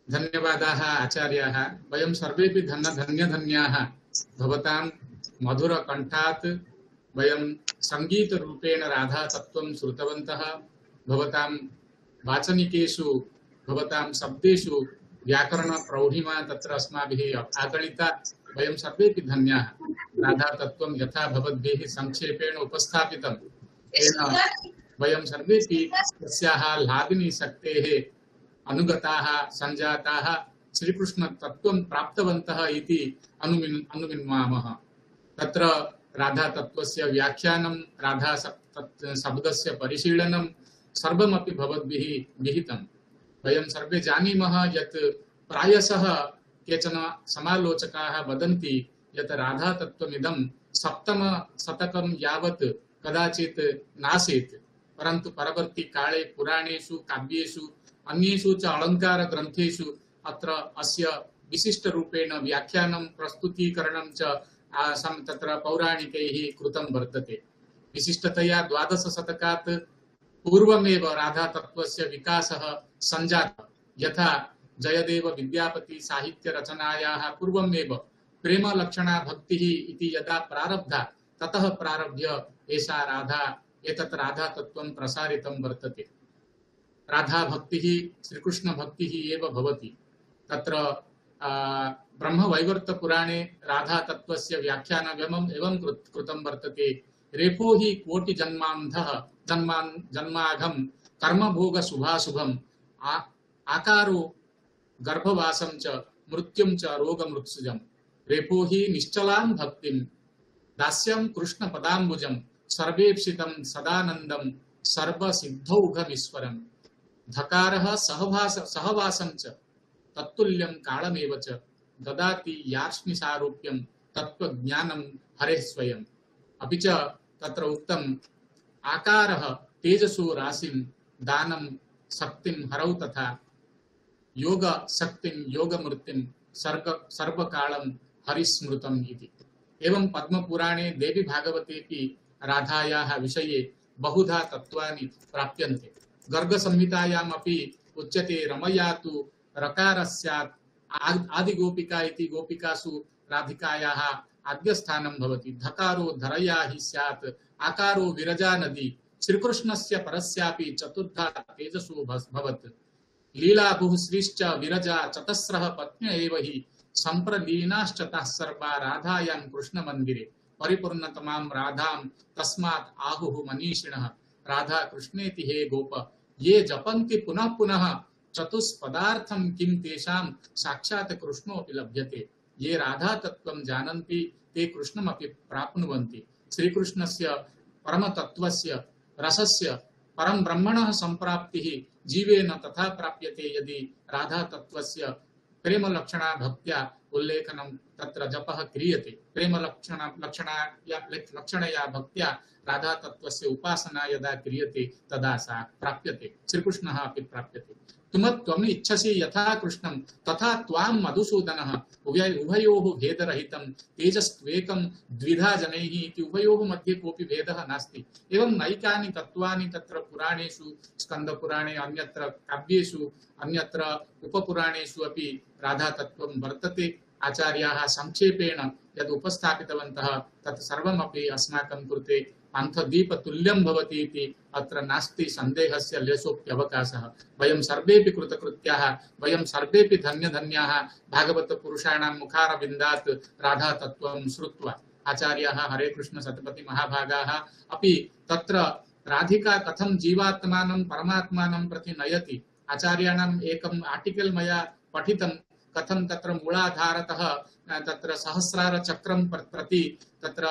धन्यवादाः आचार्याः। वयं सर्वेपि धन्य धन्य धन्याः भवतां मधुरकण्ठात् वयं सङ्गीतरूपेण राधा तत्त्वं श्रुतवन्तः। भवतां वाचनिकेषु भवतां शब्देषु व्याकरणप्रौढिमा तत्र अस्माभिः आकलिता। वयं सर्वेपि धन्याः। राधा तत्त्वं यथा भवद्भिः संक्षेपेण उपस्थापितं तेन वयं सर्वेपि तस्याः लादिनी शक्तेः अनुगताः संजाताः श्रीकृष्ण तत्त्वं प्राप्तवन्तः इति अनुमिन् अनुमिन्वामः। तत्र राधा तत्त्वस्य व्याख्यानं राधा शब्दस्य परिशीलनं सर्वमपि भवद्भिः विहितं। वयं सर्वे जानीमः यत् प्रायशः केचन समालोचकाः वदन्ति यत् राधा तत्त्वमिदं सप्तम शतकं यावत् कदाचित् नासीत्, परन्तु परवर्ती काले पुराणेषु काव्येषु अन्येषु च अलङ्कार ग्रन्थेषु अत्र अस्य विशिष्टरूपेण व्याख्यानं प्रस्तुतीकरणं च तत्र पौराणिकैः कृतं वर्तते। विशिष्टतया द्वादश शतकात् पूर्वमेव राधा तत्त्वस्य विकासः सञ्जातः। यथा जयदेव विद्यापति साहित्य रचनायाः पूर्वमेव प्रेमलक्षणा भक्तिः इति यदा प्रारब्धा ततः प्रारभ्य एषा राधा एतत् राधा तत्त्वं प्रसारितं वर्तते। राधा भक्तिः श्रीकृष्ण भक्तिः एव भवति। तत्र ब्रह्मवैवर्त पुराणे राधा तत्त्वस्य व्याख्यानम् एवं कृतं वर्तते। रेफो हि कोटि जन्मान्धः जन्मान् जन्माघं कर्मभोग शुभाशुभम आकारो गर्भवासं च मृत्युं च रोगमृत्सुजम्। रेफो हि निश्चलां भक्तिं दास्यं कृष्ण पदाम्बुजं सर्वेप्सितं सदानन्दं सर्वसिद्धौघमीश्वरम्। धकारः सहवास सहवासं च तत्तुल्यं कालमेव च ददाति यार्ष्णिसारूप्यं तत्त्वज्ञानं हरेः स्वयम्। अपि च तत्र उक्तम् आकारः तेजसो राशिं दानं शक्तिं हरौ तथा योग शक्तिं योगमूर्तिं सर्ग सर्वकालं हरिस्मृतम् इति। एवं पद्मपुराणे देवी भागवतेऽपि राधायाः विषये बहुधा तत्त्वानि प्राप्यन्ते। गर्गसंहितायामपि उच्यते रमया तु रकारस्यात् आदिगोपिका इति गोपिकासु राधिकायाः आद्यस्थानं भवति। धकारो धरया हि स्यात् आकारो विरजा नदी श्रीकृष्णस्य परस्यापि चतुर्धा तेजसो भवत्। लीलाभुः श्रीश्च विरजा चतस्रः पत्न्य एव हि संप्रलीनाश्चतः सर्वा राधायां कृष्णमन्दिरे परिपूर्णतमां राधां तस्मात् आहुः मनीषिणः। राधा कृष्णेति हे गोप ये जपन्ति पुनः पुनः चतुष्पदार्थं किं तेषां साक्षात् कृष्णोऽपि लभ्यते। ये राधा तत्त्वं जानन्ति ते कृष्णमपि प्राप्नुवन्ति। श्रीकृष्णस्य परमतत्त्वस्य रसस्य परम ब्रह्मणः संप्राप्तिः जीवेन तथा प्राप्यते यदि राधा तत्त्वस्य प्रेम लक्षणा भक्त्या उल्लेखनं तत्र जपः क्रियते। प्रेम लक्षणा लक्षणाया लक्षणया भक्त्या राधा तत्त्वस्य उपासना यदा क्रियते तदा सा प्राप्यते, श्रीकृष्णः अपि प्राप्यते। तुमत्वम् इच्छसि यथा कृष्णं तथा त्वां मधुसूदनः उभय उभयोः भेदरहितं तेजस्त्वेकं द्विधा जनैः इति उभयोः मध्ये कोऽपि भेदः नास्ति। एवं नैकानि तत्त्वानि तत्र पुराणेषु स्कन्दपुराणे अन्यत्र काव्येषु अन्यत्र उपपुराणेषु अपि राधा तत्त्वं वर्तते। आचार्याः संक्षेपेण यद् उपस्थापितवन्तः तत् सर्वमपि अस्माकं कृते पान्थदीपतुल्यं भवति इति अत्र नास्ति सन्देहस्य लेशोऽप्यवकाशः। वयं सर्वेपि कृतकृत्याः, वयं सर्वेपि धन्यधन्याः भागवतपुरुषाणां मुखारविन्दात् राधा तत्त्वं श्रुत्वा। आचार्याः हरे कृष्ण सतपति महाभागाः अपि तत्र राधिका कथं जीवात्मानं परमात्मानं प्रति नयति। आचार्याणाम् एकम् आर्टिकल् मया पठितं, कथं तत्र मूलाधारतः तत्र सहस्रार चक्रं प्रति तत्र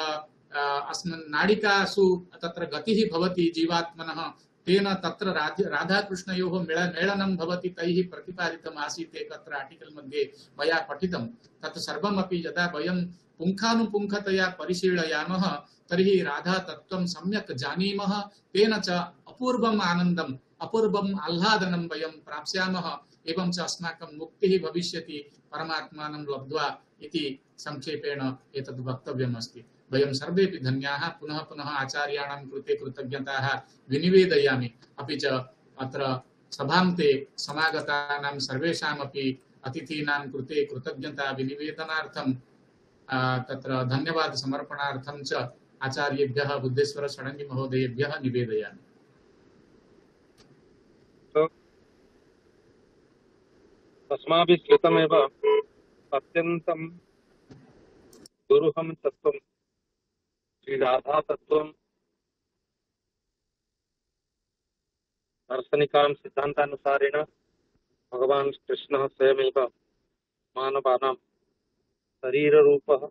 अस्मिन् नाडिकासु तत्र गतिः भवति जीवात्मनः, तेन तत्र राधाकृष्णयोः मेलनं भवति तैः प्रतिपादितम् आसीत् एकत्र आर्टिकल् मध्ये मया पठितं। तत् सर्वमपि यदा वयं पुङ्खानुपुङ्खतया परिशीलयामः तर्हि राधा तत्त्वं सम्यक् जानीमः, तेन च अपूर्वम् आनन्दम् अपूर्वम् आह्लादनं वयं प्राप्स्यामः। एवं च अस्माकं मुक्तिः भविष्यति परमात्मानं लब्ध्वा इति संक्षेपेण एतद् वक्तव्यम् अस्ति। वयं सर्वेपि धन्याः। पुनः पुनः आचार्याणां कृते कृतज्ञताः विनिवेदयामि। अपि च अत्र सभान्ते समागतानां सर्वेषामपि अतिथीनां कृते कृतज्ञता विनिवेदनार्थं तत्र धन्यवाद समर्पणार्थं च आचार्येभ्यः बुद्धेश्वर षडङ्गी महोदयेभ्यः निवेदयामि। अस्माभिः श्रुतमेव अत्यन्तं दुरूहं तत्त्वं श्रीराधा तत्त्वं दार्शनिकानां सिद्धान्तानुसारेण भगवान् कृष्णः स्वयमेव मानवानां शरीररूपः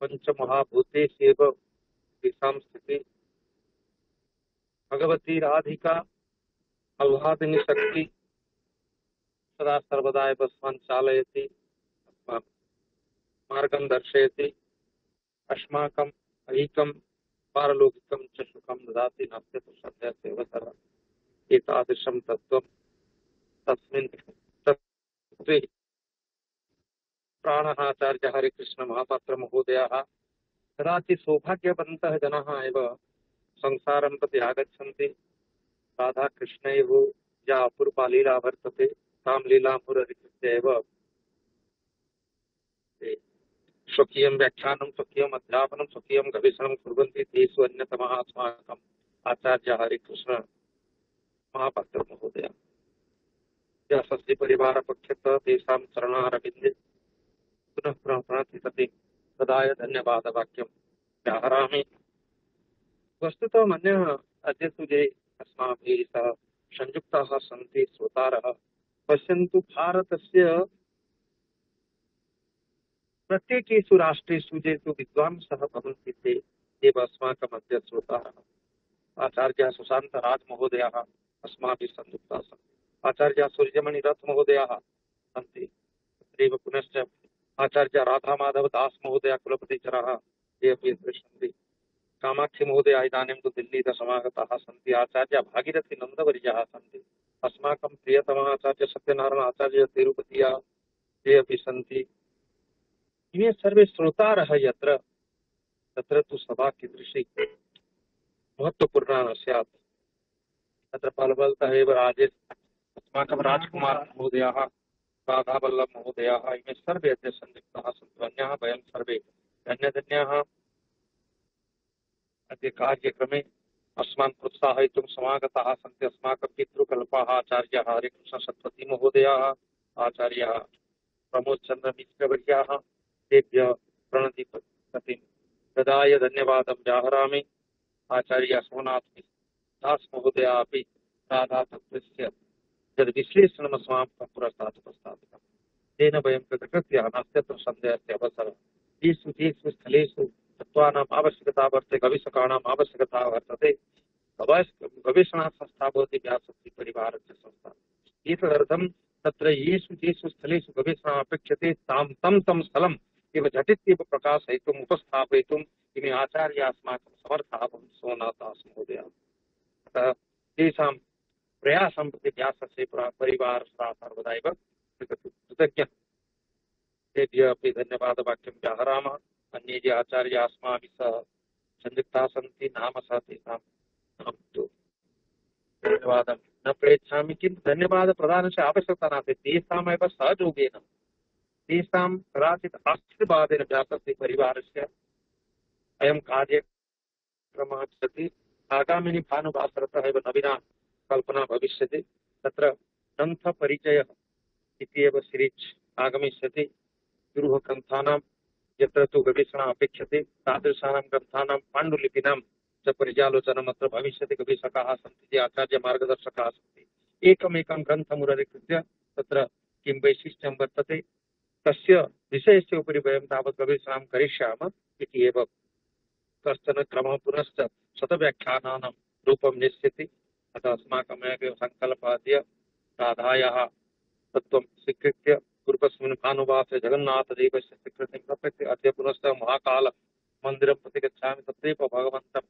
पञ्चमहाभूतेषु एव तेषां स्थितिः। भगवती राधिका आह्लादिनी शक्ति सदा सर्वदा एव अस्मान् चालयति, अस्मान् मार्गं दर्शयति, अस्माकम् ऐकं पारलौकिकं च सुखं ददाति। नास्ति तु सत्यस्यैव सर्वम्। एतादृशं तत्त्वं तस्मिन् तत्त्वे प्राणः आचार्यः हरिकृष्ण महापात्र महोदयाः कदाचित् सौभाग्यवन्तः जनाः एव संसारं प्रति आगच्छन्ति। राधाकृष्णयोः या अपूर्वा लीला वर्तते तां लीलामुररिकृत्य एव स्वकीयं व्याख्यानं स्वकीयम् अध्यापनं स्वकीयं गवेषणं कुर्वन्ति। तेषु अन्यतमः अस्माकम् आचार्यः हरिकृष्ण महापात्र महोदयः। यः स्वस्य परिवारपक्षतः तेषां चरणारविन्दे पुनः पुनः प्रणति सति तदाय धन्यवादवाक्यं व्याहरामि। वस्तुतः मन्यः अद्य ये अस्माभिः सह संयुक्ताः सन्ति श्रोतारः, पश्यन्तु भारतस्य प्रत्येकेषु राष्ट्रेषु ये तु विद्वांसः भवन्ति ते एव अस्माकम् अद्य श्रोतारः। आचार्यः सुशान्तराजमहोदयाः अस्माभिः संयुक्ताः सन्ति, आचार्यः सूर्यमणिरथमहोदयाः सन्ति, तत्रैव पुनश्च आचार्य राधामाधवदास महोदय कुलपतिचराः ये अपि अत्र सन्ति। कामाक्षी महोदया इदानीं तु दिल्लीतः समागताः सन्ति। आचार्य भागीरथी नन्दवर्याः सन्ति, अस्माकं प्रियतमः आचार्य सत्यनारायण आचार्य तिरुपतिया ये अपि सन्ति, इमे सर्वे श्रोतारः यत्र तत्र तु सभा कीदृशी महत्वपूर्णा न स्यात्। तत्र फलबलतः एव राजेश अस्माकं राजकुमार महोदयाः, राधावल्लभ महोदयाः, इमे सर्वे अद्य संयुक्ताः सन्ति। अन्याः वयं सर्वे धन्यधन्याः अद्य कार्यक्रमे अस्मान् प्रोत्साहयितुं समागताः सन्ति। अस्माकं पितृकल्पाः आचार्याः हरिकृष्ण सत्पथी महोदयाः, आचार्याः प्रमोद चंद्र मिश्रवर्याः, तेभ्यः प्रणतिपतिं ददाय धन्यवादं व्याहरामि। आचार्य सोमनाथ दास महोदया अपि राधा तत्त्वस्य यद् विश्लेषणम् अस्माकं पुरस्तात् उपस्थापितं, तेन वयं कृतकृत्याः नास्त्यत्र सन्देहस्य अवसरः। येषु येषु स्थलेषु तत्त्वानाम् आवश्यकता वर्तते, गवेषकाणाम् आवश्यकता वर्तते, गवेषणासंस्था भवति व्यासपरिवारस्य संस्था। एतदर्थं तत्र येषु येषु स्थलेषु गवेषणम् अपेक्षते तां तं तं स्थलम् एव झटित्येव प्रकाशयितुम् उपस्थापयितुम् इमे आचार्याः अस्माकं समर्थाः भवन्ति। सोमनाथदास महोदयाः, अतः तेषां प्रयासं प्रति व्यासस्य परिवारः सर्वदा एव कृतज्ञः। तेभ्यः अपि धन्यवादवाक्यं व्याहरामः। अन्ये ये आचार्याः अस्माभिः सह संयुक्ताः सन्ति, नाम सह तेषां अहं तु धन्यवादं न प्रेच्छामि, किन्तु धन्यवादप्रदानस्य आवश्यकता नास्ति। तेषामेव सहयोगेन, तेषां कदाचित् आशीर्वादेन व्यासस्य परिवारस्य अयं कार्यक्रमः चलति। आगामिनि भानुवासरतः एव नवीना कल्पना भविष्यति। तत्र ग्रन्थपरिचयः इति एव सीरीस् आगमिष्यति। गुरुः ग्रन्थानां यत्र तु गवेषणा अपेक्षते तादृशानां ग्रन्थानां पाण्डुलिपीनां च पर्यालोचनम् अत्र भविष्यति। गवेषकाः सन्ति, ये आचार्यमार्गदर्शकाः सन्ति। एकमेकं ग्रन्थमुदरीकृत्य तत्र किं वैशिष्ट्यं वर्तते, तस्य विषयस्य उपरि वयं तावत् गवेषणां करिष्यामः इति एव कश्चन क्रमः। पुनश्च शतव्याख्यानानां रूपं निश्चिति। अतः अस्माकमेव सङ्कल्पः अद्य राधायाः तत्त्वं स्वीकृत्य पूर्वस्मिन् भानुवासरे जगन्नाथदेवस्य स्वीकृतिं प्रपत्य अद्य पुनश्च महाकालमन्दिरं प्रति गच्छामि। तत्रैव भगवन्तं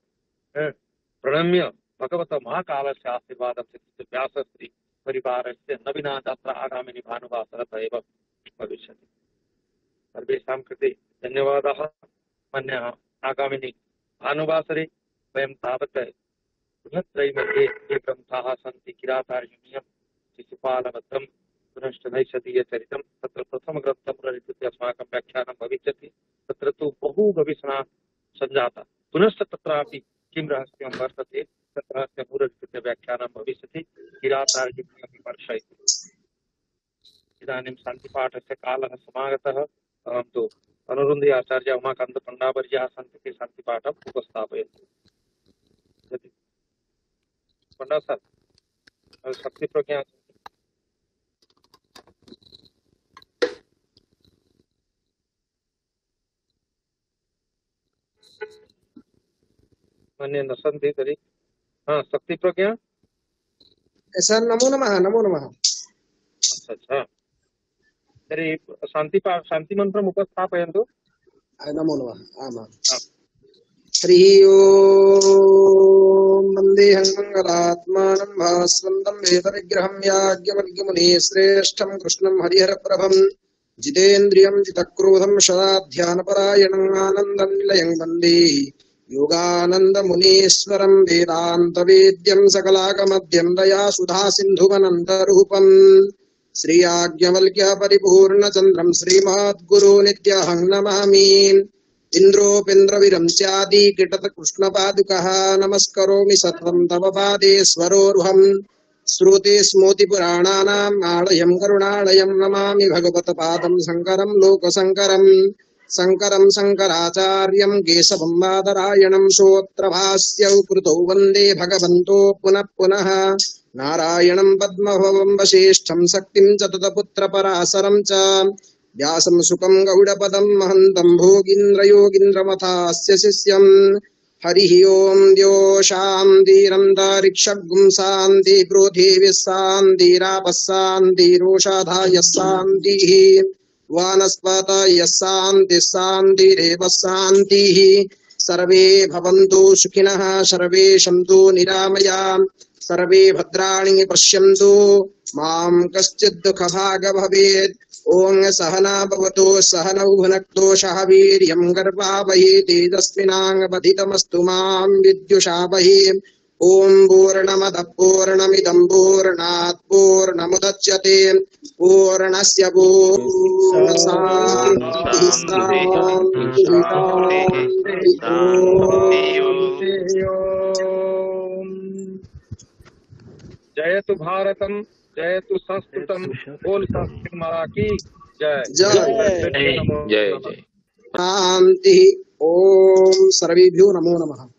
प्रणम्य भगवतः महाकालस्य आशीर्वादं स्वीकृत्य व्यासश्री परिवारस्य नवीना यात्रा आगामिनि भानुवासरतः एव भविष्यति। सर्वेषां कृते धन्यवादाः। अन्यः आगामिनि भानुवासरे वयं तावत् बृहत्त्रयी मध्ये ये ग्रन्थाः सन्ति, किरातार्जुनीयं, शिशुपालवधं, पुनश्च नैषधीयचरितं, तत्र प्रथमग्रन्थमुदरीकृत्य अस्माकं व्याख्यानं भविष्यति। तत्र तु बहु गवेषणा सञ्जाता। पुनश्च तत्रापि किं रहस्यं वर्तते तत् रहस्यमुदरीकृत्य व्याख्यानं भविष्यति। किरातार्जुनीयं वर्षयति। इदानीं शान्तिपाठस्य कालः समागतः। अहं तु अनुरुन्धे आचार्य उमाकान्त पण्डावर्याः सन्ति, ते शान्तिपाठम् उपस्थापयन्ति। पंडा सर शक्ति प्रज्ञा मन्ये न सन्ति तर्हि हा शक्ति प्रज्ञा। सर नमो नमः। नमो नमः। अच्छा अच्छा, तर्हि शान्तिपा शान्तिमन्त्रम् उपस्थापयन्तु। नमो नमः। आमां हरिः ओम्। वन्देऽहं मङ्गलात्मानं भास्वन्तं वेदविग्रहं याज्ञवल्क्यमुनिः श्रेष्ठं कृष्णं हरिहरप्रभं जितेन्द्रियं जितक्रोधं सदा ध्यानपरायणम् आनन्दं निलयं वन्दे योगानन्दमुनीश्वरं वेदान्तवेद्यं सकलागमद्यं दया सुधा सिन्धुवनन्तरूपम् श्रीयाज्ञवल्क्य परिपूर्णचन्द्रं श्रीमद्गुरो नित्यहं नमामि। इन्द्रोपेन्द्रविरं स्यादि किटत कृष्णपादुकः नमस्करोमि सत्वं तव पादेश्वरोरुहम् श्रुते स्मृतिपुराणानाम् आलयं करुणालयं नमामि भगवत्पादं शङ्करं लोकशङ्करम् शङ्करं शङ्कराचार्यं केशवं बादरायणं श्रोत्रभास्यौ कृतौ वन्दे भगवन्तो पुनः पुनः नारायणं पद्मभवं वसिष्ठं शक्तिं च ततपुत्रपराशरं च व्यासं सुखं गौडपदं महन्तं भोगीन्द्रयोगीन्द्रमथास्य शिष्यम्। हरिः ओम्। द्यो शान्तिरन्तरिक्षगुं शान्ति पृथिवी शान्तिरापः शान्तिरोषधायः शान्तिः वानस्पतयः शान्तिः शान्तिरेव शान्तिः। सर्वे भवन्तु सुखिनः सर्वे सन्तु निरामया सर्वे भद्राणि पश्यन्तु मां कश्चित् दुःखभाग् भवेत्। ॐ सहना भवतु सहनौ भुनक्तु सह वीर्यं कर्वावहै तेजस्विनावधीतमस्तु मा विद्युषावहै। ॐ पूर्णमदः पूर्णमिदं पूर्णात् पूर्णमुदच्यते पूर्णस्य पूर्णमादाय शान्तिः शान्तिः शान्तिः। जयतु भारतम, जयतु संस्कृतम, बोल संस्कृत माला की जय। जय जय जय। शान्तिः। ॐ सर्वेभ्यो नमो नमः।